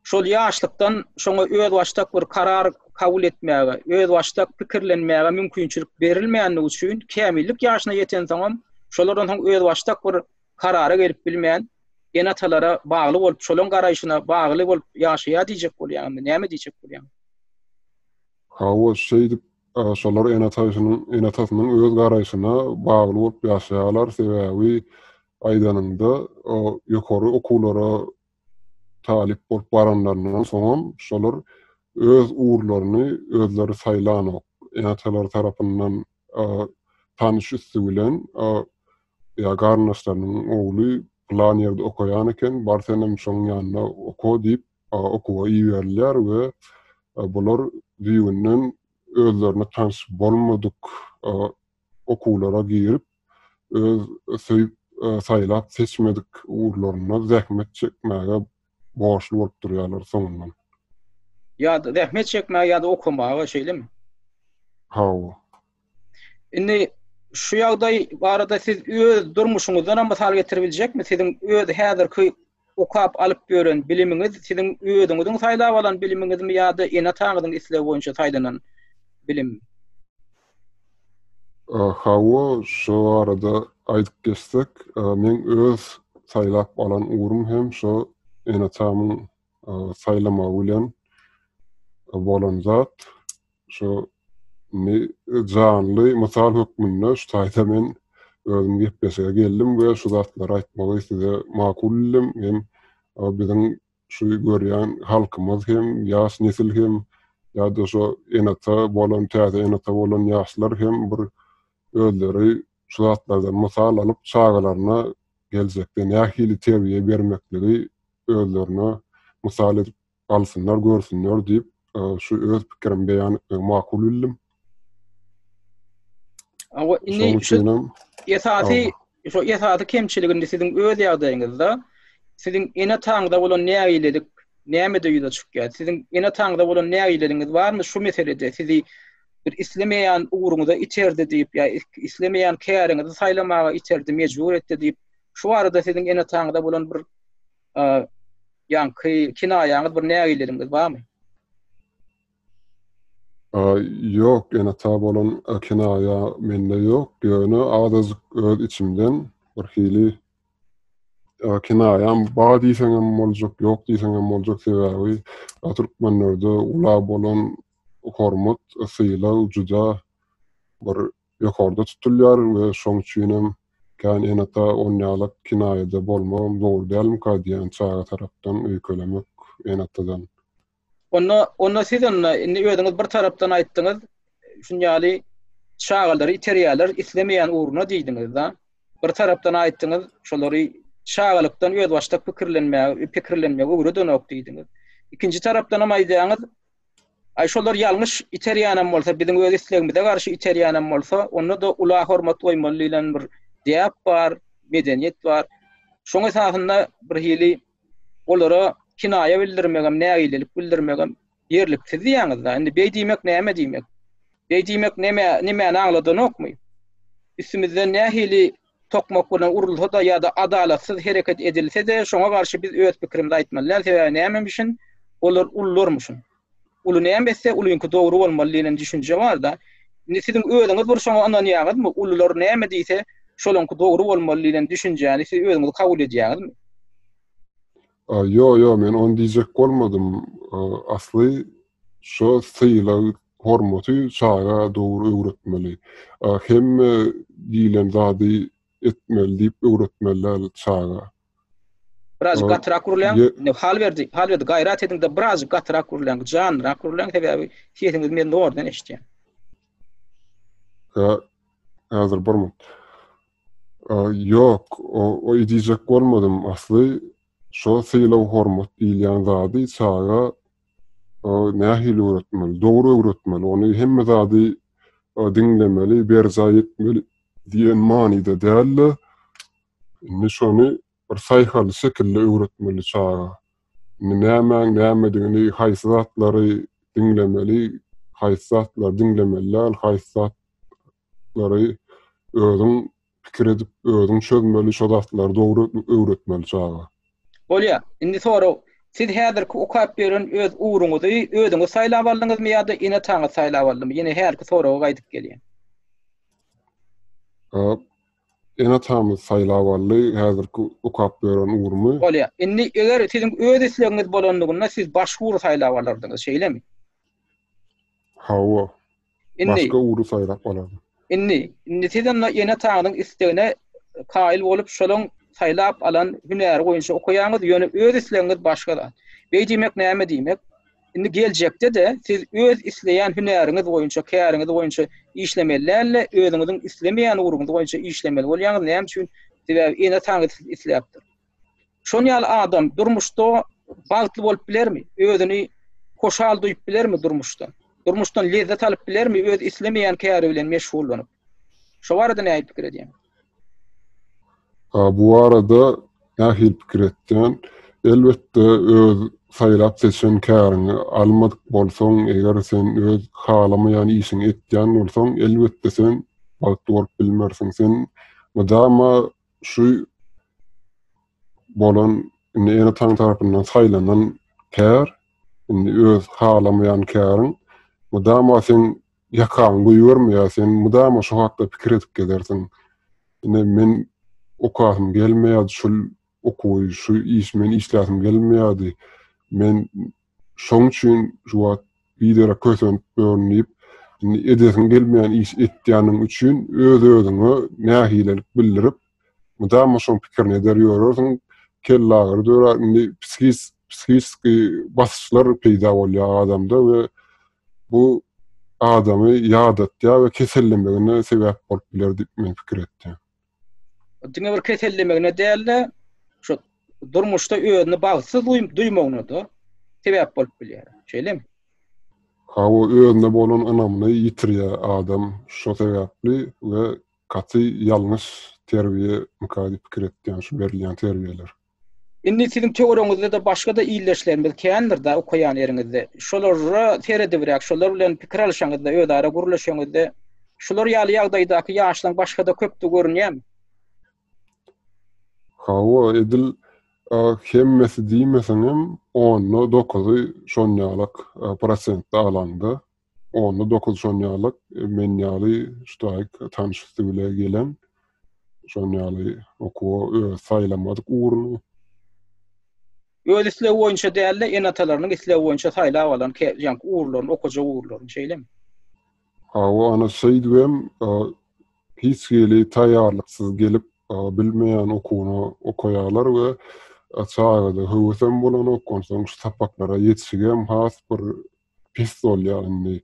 şol ýaşlykdan şoňa özbaşdak bir karar kabul etmäge, özbaşdak pikirlenmäge mümkinçilik berilmänligi üçin kämillik ýaşyna ýetensoňam şolardan soň özbaşdak bir karara gelip bilmän, ene-atalara bagly bolup, şolaň garaýşyna bagly bolup ýaşaýar diýjek bolýaňmy, näme diýjek bolýaň? Hawa, şeýdip, şolar ene-atasynyň, ene-atasynyň öz garaýşyna bagly bolup ýaşaýarlar, sebäbi aýdanyňda, ýokary okuwlara talyp bolup baranlaryndan soňam şolar öz ugurlaryny özleri saýlanok. Ene-atalary tarapyndan tanyş üsti bilen ýa garyndaşlarynyň ogly pylan ýerde okaýan eken, bar senem şoň ýanynda oka diýip okuwa iberilýär we bular düýbünden özlerine tanyş bolmadyk okuwlara girip, öz söýüp, saýlap seçmedik ugurlarynda zähmet çekmäge borçly bolup durýarlar soňundan. Ýa-da zähmet çekmäge ýa-da okamaga, şeýlemi? Hawa. Indi şu ýagdaý barada siz öz durmuşyňyzdan hem mysal getirip biljekmi? Siziň öz häzirki okap alyp ýören bilimiňiz siziň özüňiziň saýlap alan bilimiňizmi ýa-da ene-ataňyzyň islegi boýunça saýlanan bilimmi? Hawa, şo barada aýdyp geçsek, meň öz saýlap alan ugrum hem şo ene-atamyň saýlamagy bilen bolan zat. Şu indi janly mysal hökmünde şu taýda men özüm gepleşige geldim we şu zatlary aýtmagy size makul bildim. Hem biziň şu görýän halkymyz hem, ýaş nesil hem ýa-da şu ene-ata bolan, täze ene-ata bolan ýaşlar hem bir özleri şu zatlardan mysal alyp çagalaryna geljekde nähili terbiýe bermekligi özlerine mysal edip alsynlar, görsünler diýip, şu öz pikirimi beýan etmegi makul bildim. Awa, indi şu esasy şu esasy kemçilik indi siziň öz ýagdaýyňyzda siziň ene-ataňyza bolan nägilelik nämede ýüze çykýar? Siziň ene-ataňyza bolan nägileligiňiz barmy şu meselede sizi bir islemeýän ugruňyza iterdi diýip ýa islemeýän käriňizi saýlamaga iterdi, mejbur etdi diýip, şu barada siziň ene-ataňyza bolan bir ýaňky kinaýaňyz bir nägileligiňiz barmy? Ýok, ene-ata bolan kinaýa mende ýok, ýöne azajyk öz içimden bir hili kinaýam bar diýseňem boljak, ýok diýseňem boljak, sebäbi türkmenlerde ula bolan hormat, sylag juda bir ýokarda tutulýar we şoň üçinem kän ene-ata onýalak kinaýada bolmagam dogry dälmika diýýän çaga tarapdan öýkelemek ene-atadan. Onda onda siz onda indi özüňiz bir tarapdan aýtdyňyz şun ýaly çagalary iterýärler islemeýän ugruna diýdiňiz-da. Bir tarapdan aýtdyňyz şolary çagalykdan özbaşdak pikirlenmäge pikirlenmegi öwredenok diýdiňiz. Ikinji tarapdan hem aýdýaňyz, aý şolar ýalňyş iterýänem bolsa, biziň öz islegimize garşy iterýänem bolsa, onda-da ula hormat goýmaly diýlen bir däp bar, medeniýet bar. Şoň esasynda bir hili olara kinaýa bildirmegem, nägilelik bildirmegem ýerliksiz diýýäňiz-dä. Indi beý diýmek näme diýmek? Beý diýmek näme, nämäni aňladanokmy? Üstümizden nähili tokmak bilen urulsa-da ýa-da adalatsyz hereket edilse-de, şoňa garşy biz öz pikirimizi aýtmaly däl. Sebäbi nämemişin? Olar ulularmyşyn. Uly näme etse, ulyňky dogry bolmaly diýlen düşünje bar-da. Indi siziň özüňiz bir şoňa ynanýaňyzmy? Ulular näme diýse, şolaňky dogry bolmaly diýlen düşünjäni siz özüňiz kabul edýäňizmi? Ýo, ýo, men ony diýjek bolmadym. Asly şo sylag hormaty çaga dogry öwretmeli. Hemme diýlen zady etmeli diýip öwretmeli däl çaga. Birazjyk gatyrak gürläň. Indi Halberdi, Halberdi gaýrat ediň-de birazjyk gatyrak gürläň, janlyrak gürläň, sebäbi sesiňizi men zordan eşidýän. Hä, häzir bir minut. Ýok, o diýjek bolmadym. Asly şo sylag-hormat diýilýän zady çaga nähili öwretmeli? Dogry öwretmeli. Ony hemme zady diňlemeli, berjaý etmeli diýen manyda däl-de, indi şony bir saýhally şekilde öwretmeli çaga. Indi nämäň nämedigini, haýsy zatlary diňlemeli, haýsy zatlary diňlemeli däl, haýsy zatlary özüň pikir edip, özüň çözmeli, şo zatlary dogry öwretmeli çaga. Bolýar. Indi sorag, siz häzirki okap ýören öz ugruňyzy özüňiz saýlap aldyňyzmy ýa-da ene-ataňyz saýlap aldymy? Ýene hälki soraga gaýdyp gelýän. Ene-atamyz saýlap aldy häzirki okap ýören ugrumy. Bolýar. Indi eger siziň öz islegiňiz bolanlygynda siz başga ugry saýlap alardyňyz, şeýlemi? Hawa. Indi başga ugry saýlap alardym. Indi, indi siz onda ene-ataňyzyň islegine kaýyl bolup, şolaň saýlap alan hünäri boýunça okaýaňyz, ýöne öz islegiňiz başga zat. Beý diýmek näme diýmek? Indi geljekde-de siz öz isleýän hünäriňiz boýunça, käriňiz boýunça işlemeli däl-de, özüňiziň islemeýän ugruňyz boýunça işlemeli bolýaňyz. Näme üçin? Sebäbi ene-ataňyz sizi isläpdir. Şon ýaly adam durmuşda bagtly bolup bilermi? Özüni hoşal duýup bilermi durmuşda? Durmuşdan lezzet alyp bilermi öz islemeýän käri bilen meşgullanyp? Şo barada nähili pikir edýäň? Bu barada nähili pikir etýän? Elbetde öz saýlap seçen käriňi almadyk bolsaň, eger sen öz halamaýan işiňi etýän bolsaň, elbetde sen bagtly bolup bilmersiň. Sen mydama şu bolan indi ene-ataň tarapyndan saýlanan kär, indi öz halamaýan käriň mydama seň ýakaňy goýbermeýär, sen mydama şo hakda pikir edip gezersiň. Ine men okasym gelmeýärdi şul okuwy, şu iş men işläsim gelmeýärdi. Men şoň üçin şu wagt biderek kösenip ýörün diýip, indi edesiň gelmeýän iş etýäniň üçin öz-özüňe nägilelik bildirip, mydama şoň pikirini eder ýörersiň, kellagyry dörär, indi psihiski basyşlar peýda bolýar adamda we bu adamy ýadatýar we kesellemegine sebäp bolup biler diýip men pikir etýän. Diňe bir kesellemegine däl-de, şu durmuşda özüni bagtsyz duýmagyna-da sebäp bolup bilýär. Şeýlemi? Hawa, özüne bolan ynamyny ýitirýär adam şo sebäpli we gaty ýalňyş terbiýe mika diýip pikir etýän şu berilýän terbiýeler. Indi siziň töweregiňizde-de başga-da ildeşlerimiz kändir-dä okaýan ýeriňizde. Şolara seredibräk, şolar bilen pikir alyşaňyzda, özara gürleşeňizde, şular ýaly ýagdaýdaky ýaşlaň başga-da köpdügi görünýärmi? Hawa, edil hemmesi diýmeseňem, onda dokuzy şonýalak prosentde alaňda, onda dokuzy şonýalak men ýaly şu taýyk tanyş üsti bile gelen, şon ýaly okuwa öz saýlamadyk ugruny. Öz islegi boýunça däl-de, ene-atalarynyň islegi boýunça saýlap alan ýaňky ugurlaryny, okajak ugurlaryny, şeýlemi? Hawa, ana şeýdibem hiç hili taýýarlyksyz gelip, bilmeýän okuwyny okaýarlar we çagada höwesem bolanok, onsoň şu sapaklara ýetişigem has bir pes bolýar indi.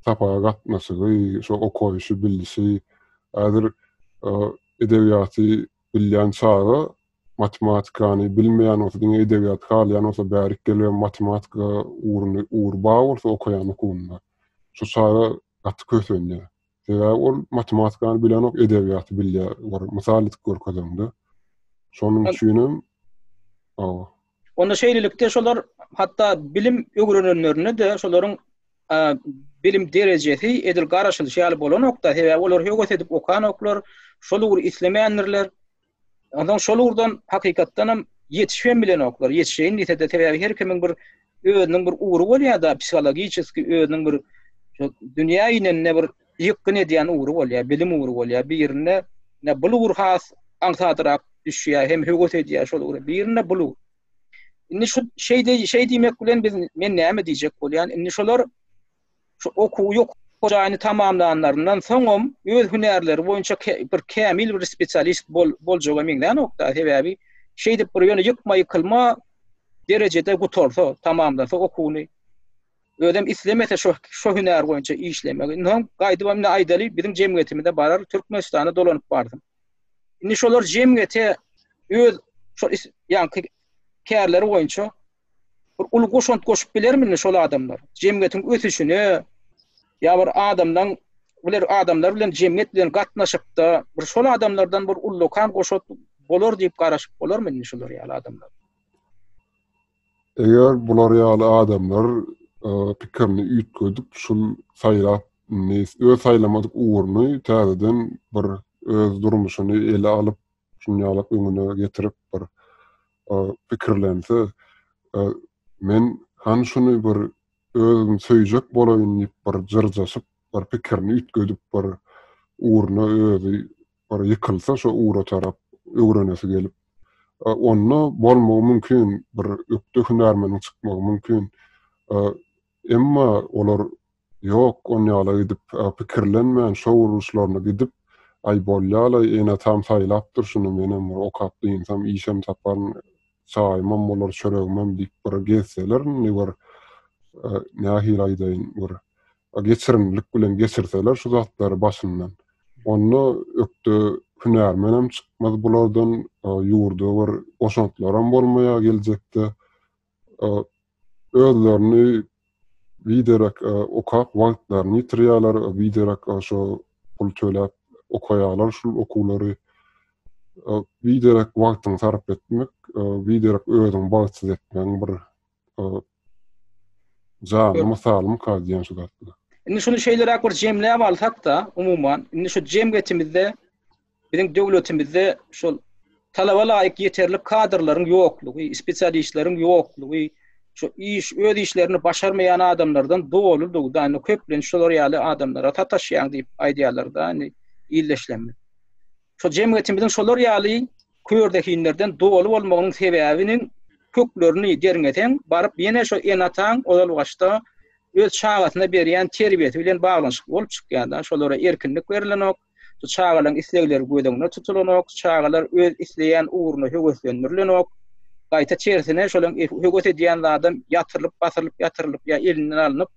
Sapaga gatnaşygy, şo okaýşy, bilişi. Häzir edebiýaty bilýän çaga. matematikany bilmeýän bolsa, diňe edebiýaty halaýan bolsa, bärik gelibem matematika ugruny, ugry bar bolsa okaýan okuwynda, şu çaga gaty kösenýär. Sebäbi ol matematikany bilenok, edebiýaty bilýär. Bir mysal edip görkezeňde. Şonuň üçinem hawa. Onda şeýlelikde şolar hatda bilim öwrenenlerinde-de şolaryň bilim derejesi edil garaşylyşy ýaly bolanok-da, sebäbi olar höwes edip okanoklar, şol ugry islemändirler. Onsoň şol ugurdan hakykatdanam ýetişip hem bilenoklar. Ýetişeýin diýse-de, sebäbi her kimiň bir özüniň bir ugry bolýar-da, psihologiçeskiý özüniň bir şo dünýä inende bir ýykgyn edýän ugry bolýar, bilim ugry bolýar. Birinde ine bul ugur has aňsadrak düşýär, hem höwes edýär şol ugra. Birinde bul ugur. Indi şu şeý şeý diýmek bilen biz men näme diýjek bolýan? Indi şolar şu okuwy ýokary jaýyny tamamlanlaryndan soňam öz hünärleri boýunça bir kämil bir spesialist bol, boljaga meňzänok-da. Sebäbi şeýdip bir ýöne ýykma-ýykylma derejede gutarsa, tamamlasa okuwyny, özem islemese şo şo hünär boýunça işlemegi. Indi soň gaýdyp indi aýdaly, biziň jemgyýetimize barar, Türkmenistana dolanyp barsyn. Indi şolar jemgyýete öz şo ýaňky kärleri boýunça bir uly goşant goşup bilermi indi şol adamlar? Jemgyýetiň ösüşine ýa bir adamlaň biler adamlar bilen jemgyýet bilen gatnaşykda bir şol adamlardan bir ullakan goşant bolar diýip garaşyp bolarmy indi şolar ýaly adamlar? Eger bular ýaly adamlar pikirini üýtgedip şul saýlap indi öz saýlamadyk ugruny täzeden bir öz durmuşyny ele alyp şuny ýalak öňüne getirip bir pikirlense, men hany şuny bir özüm söýjek bolaýyn diýip bir jyrjaşyp, bir pikirini üýtgedip bir ugruna özi bir ýykylsa şo ugra tarap öwrenesi gelip, onda bolmagy mümkin, bir ökde hünärmeniň çykmagy mümkin. Emma olar Ýok, onýala gidip, pikirlenmän, şo gurluşlaryna gidip, Aý, bolýa-laý, ene-atam saýlapdyr şuny, menem bir okap dynsam, işem taparyn, çaýymam bolar, çöregimem diýip bir gezseler, indi bir, nähili aýdaýyn, bir geçirimlilik bilen geçirseler şu zatlary başyndan, onda ökde hünärmenem çykmaz bulardan, ýurda bir goşantlaram bolmaýar geljekde. Özlerini biderek okap wagtlaryny ýitirýärler, biderek şo pul töläp okaýarlar şul okuwlary. Biderek wagtyňy sarp etmek, biderek özüňi bagtsyz etmegiň bir janly mysalymyka diýen şu zatlar. Indi şuny şeýleräk bir jemläp alsak-da, umuman, indi şu jemgyýetimizde Biziň döwletimizde şol talaba laýyk ýeterlik kadrlaryň ýoklugy, spesialistleriň ýoklugy, şu iş öz işlerini başarmaýan adamlardan doludygy da, indi köplenç şolar ýaly adamlara sataşýaň diýip aýdýarlar-da, indi ildeşlerimiz. Şo jemgyýetimiziň şolar ýaly körzehinlerden doly bolmagynyň sebäbiniň köklerini derňeseň, baryp ýene şo ene-ataň ozalbaşda öz çagasyna berýän terbiýesi bilen baglanyşykly bolup çykýar-da, şolara erkinlik berilenok, Şu çagalaryň islegleri göz öňünde tutulanok, çagalar öz isleýän ugruna höweslendirilenok. Gaýta tersine şolaryň höwes edýän zadam ýatyrylyp, basyrylyp, ýatyrylyp ýa elinden alnyp,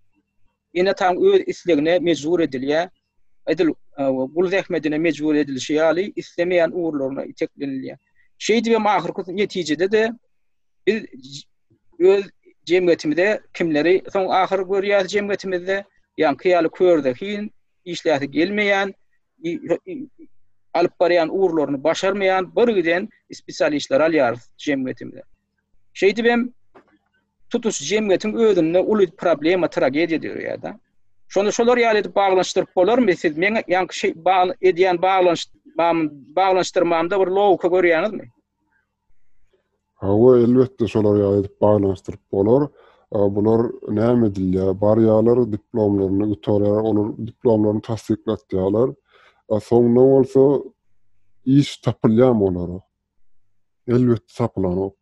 ene-ataň öz islegine mejbur edilýär. Edil gul zähmetine mejbur edilişi ýaly islemeýän ugurlaryna iteklenilýär. Şeýdibem ahyrky netijede-de biz öz jemgyýetimize kimleri soň ahyr görýäris jemgyýetimizde, ýaňky ýaly körzehin, işläsi gelmeýän, alyp barýan ugurlaryny başarmaýan bir giden spesialistleri alýarys jemgyýetimize. Şeýdip hem tutuş jemgyýetiň özünde uly problema, tragediýa döreýär-de. Şony şolar ýaly edip baglanyşdyryp bolarmy? Siz meň ýaňky şey edýän baglanyş baglanyşdyrmamda bir logika görýäňizmi? Hawa, elbetde şolar ýaly edip baglanyşdyryp bolar. Bular näme edilýär? Barýarlar, diplomlaryny gutarýar, olar diplomlaryny tassyklatýarlar. Soňunda bolsa iş tapylýarmy olara? Elbetde tapylanok.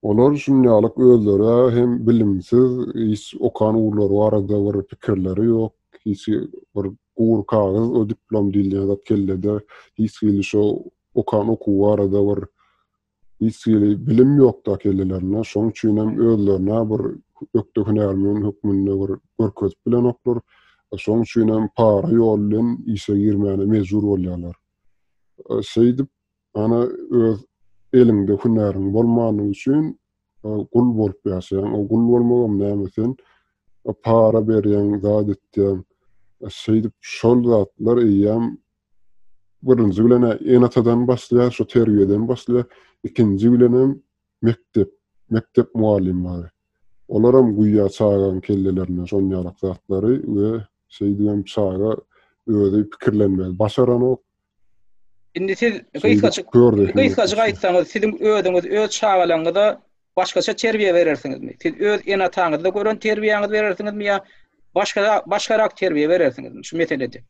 Olar şunýalyk özleri hem bilimsiz, hiç okan ugurlary barada bir pikirleri ýok, hiç bir gury kagyz o diplom diýilýän zat kellede, hiç hili şo okan okuwy barada bir hiç hili bilim ýokda kellelerinde. Şoň üçin hem özlerine bir ökde hünärmen hökmünde bir görkezip bilenoklar. Şoň üçin hem para ýol bilen işe girmäne mejbur bolýarlar. Şeýdip, ana öz. eliňde hünäriň bolmany üçin gul bolup ýaşaýaň. O gul bolmagam näme sen para berýäň, zat etýäň. Şeýdip şol zatlar eýýäm birinji bilen ene-atadan başlaýar, şo terbiýeden başlaýar. Ikinji bilenem mekdep, mekdep mugallymlary. Olaram guýýar çagaň kellelerine şon ýalak zatlary we şeýdibem çaga özi pikirlenmegi başaranok. Indi siz gysgajyk gysgajyk aýtsaňyz, siziň özüňiz öz çagalaryňyza başgaça terbiýe berersiňizmi? Siz öz ene-ataňyzda gören terbiýäňizi berersiňizmi ýa başga başgarak terbiýe berersiňizmi şu meselede?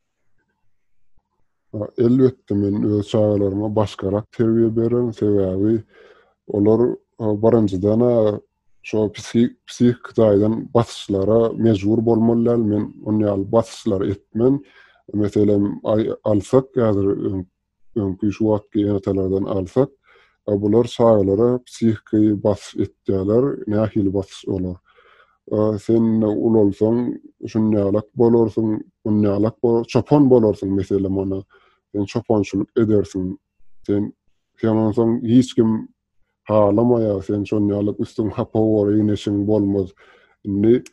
Elbetde men öz çagalaryma başgarak terbiýe bererin, sebäbi olar birinjiden şo psihiki taýdan basyşlara mejbur bolmaly däl, men on ýaly basyşlar etmen. Meselem, alsak häzir öňki şu wagtky ene-atalardan alsak, bular çagalara psihiki basyş etýärler. Nähili basyş olar? Sen ulalsaň şunýalak bolarsyň, munýalak bolar, çopan bolarsyň meselem ona. Sen çopançylyk edersiň. Sen sen onsoň hiç kim halamaýar, sen şonýalak üstüň hapa bolar, egin-eşigiň bolmaz. Indi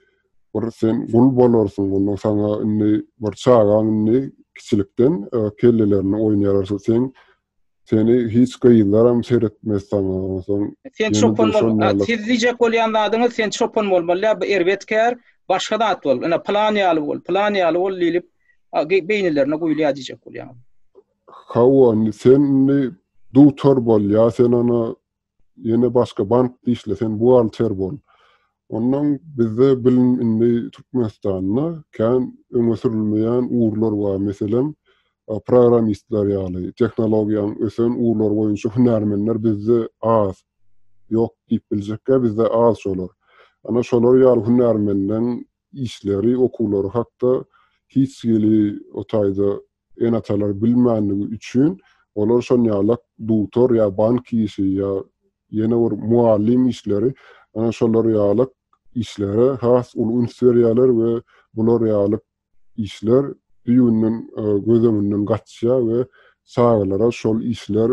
bir sen gul bolarsyň, ondan saňa indi bir çagaň indi kiçilikden kellelerine oýnaýarlar, sen seni hiç gyzlaram seretmez saňa, onsoň Sen çopan bol, siz diýjek bolýan zadyňyz sen çopan bolmaly däl, bu erbet kär, başga zat bol, ine pylan ýaly bol, pylan ýaly bol diýlip beýnilerine guýulýar diýjek bolýaňyz. Hawa, indi sen indi dugtor bol ýa sen ony ýene başga bankda işle, sen buhgalter bol. Ondan bizde bilim indi Türkmenistanda kän öňe sürülmeýän ugurlar bar. Meselem, programmistler ýaly, tehnologiýanyň ösen ugurlary boýunça hünärmenler bizde az. Ýok diýip biljekkä bizde az şolar. Ana şolar ýaly hünärmenleň işleri, okuwlary hakda hiç hili o taýda ene-atalar bilmänligi üçin olar şonýalak dugtor ýa bank işi ýa ýene bir mugallym işleri ana şolar ýalyk işlere has uly üns berýärler we bular ýalyk işler düýbünden göz öňünden gaçýar we çagalara şol işler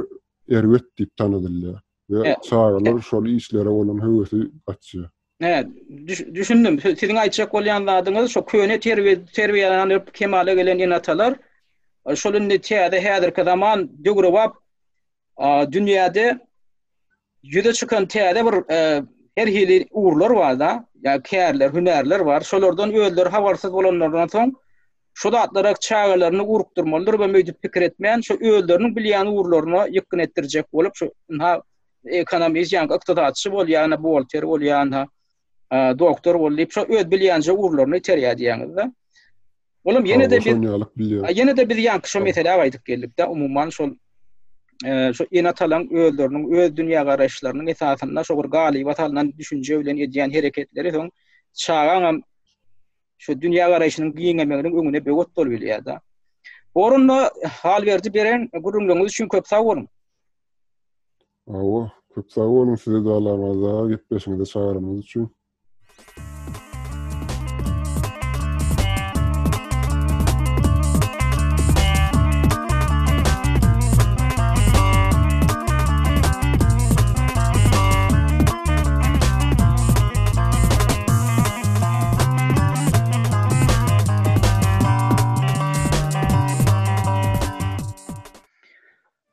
erbet diýip tanadylýar we çagalar şol işlere bolan höwesi gaçýar. Hä, düşündim. Siziň aýtjak bolýan zadyňyz şo köne terbiýe terbiýelenip kemala gelen ene-atalar şol indi täze häzirki zaman döwrebap dünýäde ýüze çykan täze bir her hili ugurlar bar-da, ýa kärler, hünärler bar. Şolardan özleri habarsyz bolanlardan soň şu zatlara çagalaryny urukdyrmalydyr we möýdüp pikir etmän, şu özleriniň bilýän ugurlaryna ýykgyn etdirjek bolup, şu ynha ekonomist, ýa ykdysatçy bol, ýa buhgalter bol, ýa doktor bol diýip, şo öz bilýänje ugurlaryny iterýär diýýäňiz-de. Olam ýene-de biz ýene-de biz ýaňky şo meselä gaýdyp geldik-de, umuman şol şo ene-atalaryň özleriniň öz dünýägaraýyşlarynyň esasynda şo bir galyba salnan düşünje bilen edýän hereketleri soň çagaňam şu dünýägaraýşynyň giňemeginiň öňüne böwet bolup bilýär-de. Bu orunda Halberdi beren gürrüňleriňiz üçin köp sag boluň. Hawa, köp sag boluň size-de Allamyrat aga gepleşigiňize çagyranyňyz üçin.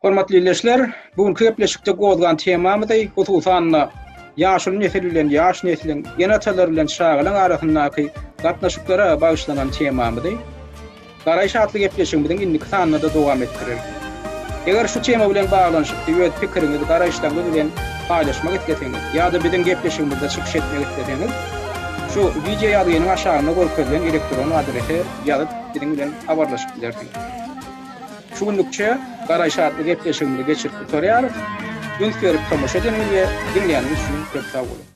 Hormatly ildeşler, bu günki gepleşikde gozgan temamyzy, hususan-da, ýaşuly nesil bilen ýaş nesliň, ene-atalar bilen çagalaryň arasyndaky gatnaşyklara bagyşlanan temamyzy Garaýyş atly gepleşigimiziň indiki sanynda-da dowam etdireris. Eger şu tema bilen baglanyşykly öz pikiriňizi, garaýyşlaryňyz bilen paýlaşmak isleseňiz ýa-da biziň gepleşigimizde çykyş etmek isleseňiz, şu wideo ýazgynyň aşagynda görkezilen elektron adrese ýazyp biziň bilen habarlaşyp bilersiňiz. Şu günlükçe Garaýyş atly gepleşigimizi geçirip gutarýarys. Üns berip tomaşa edeniňiz we diňläniňiz üçin köp sag boluň!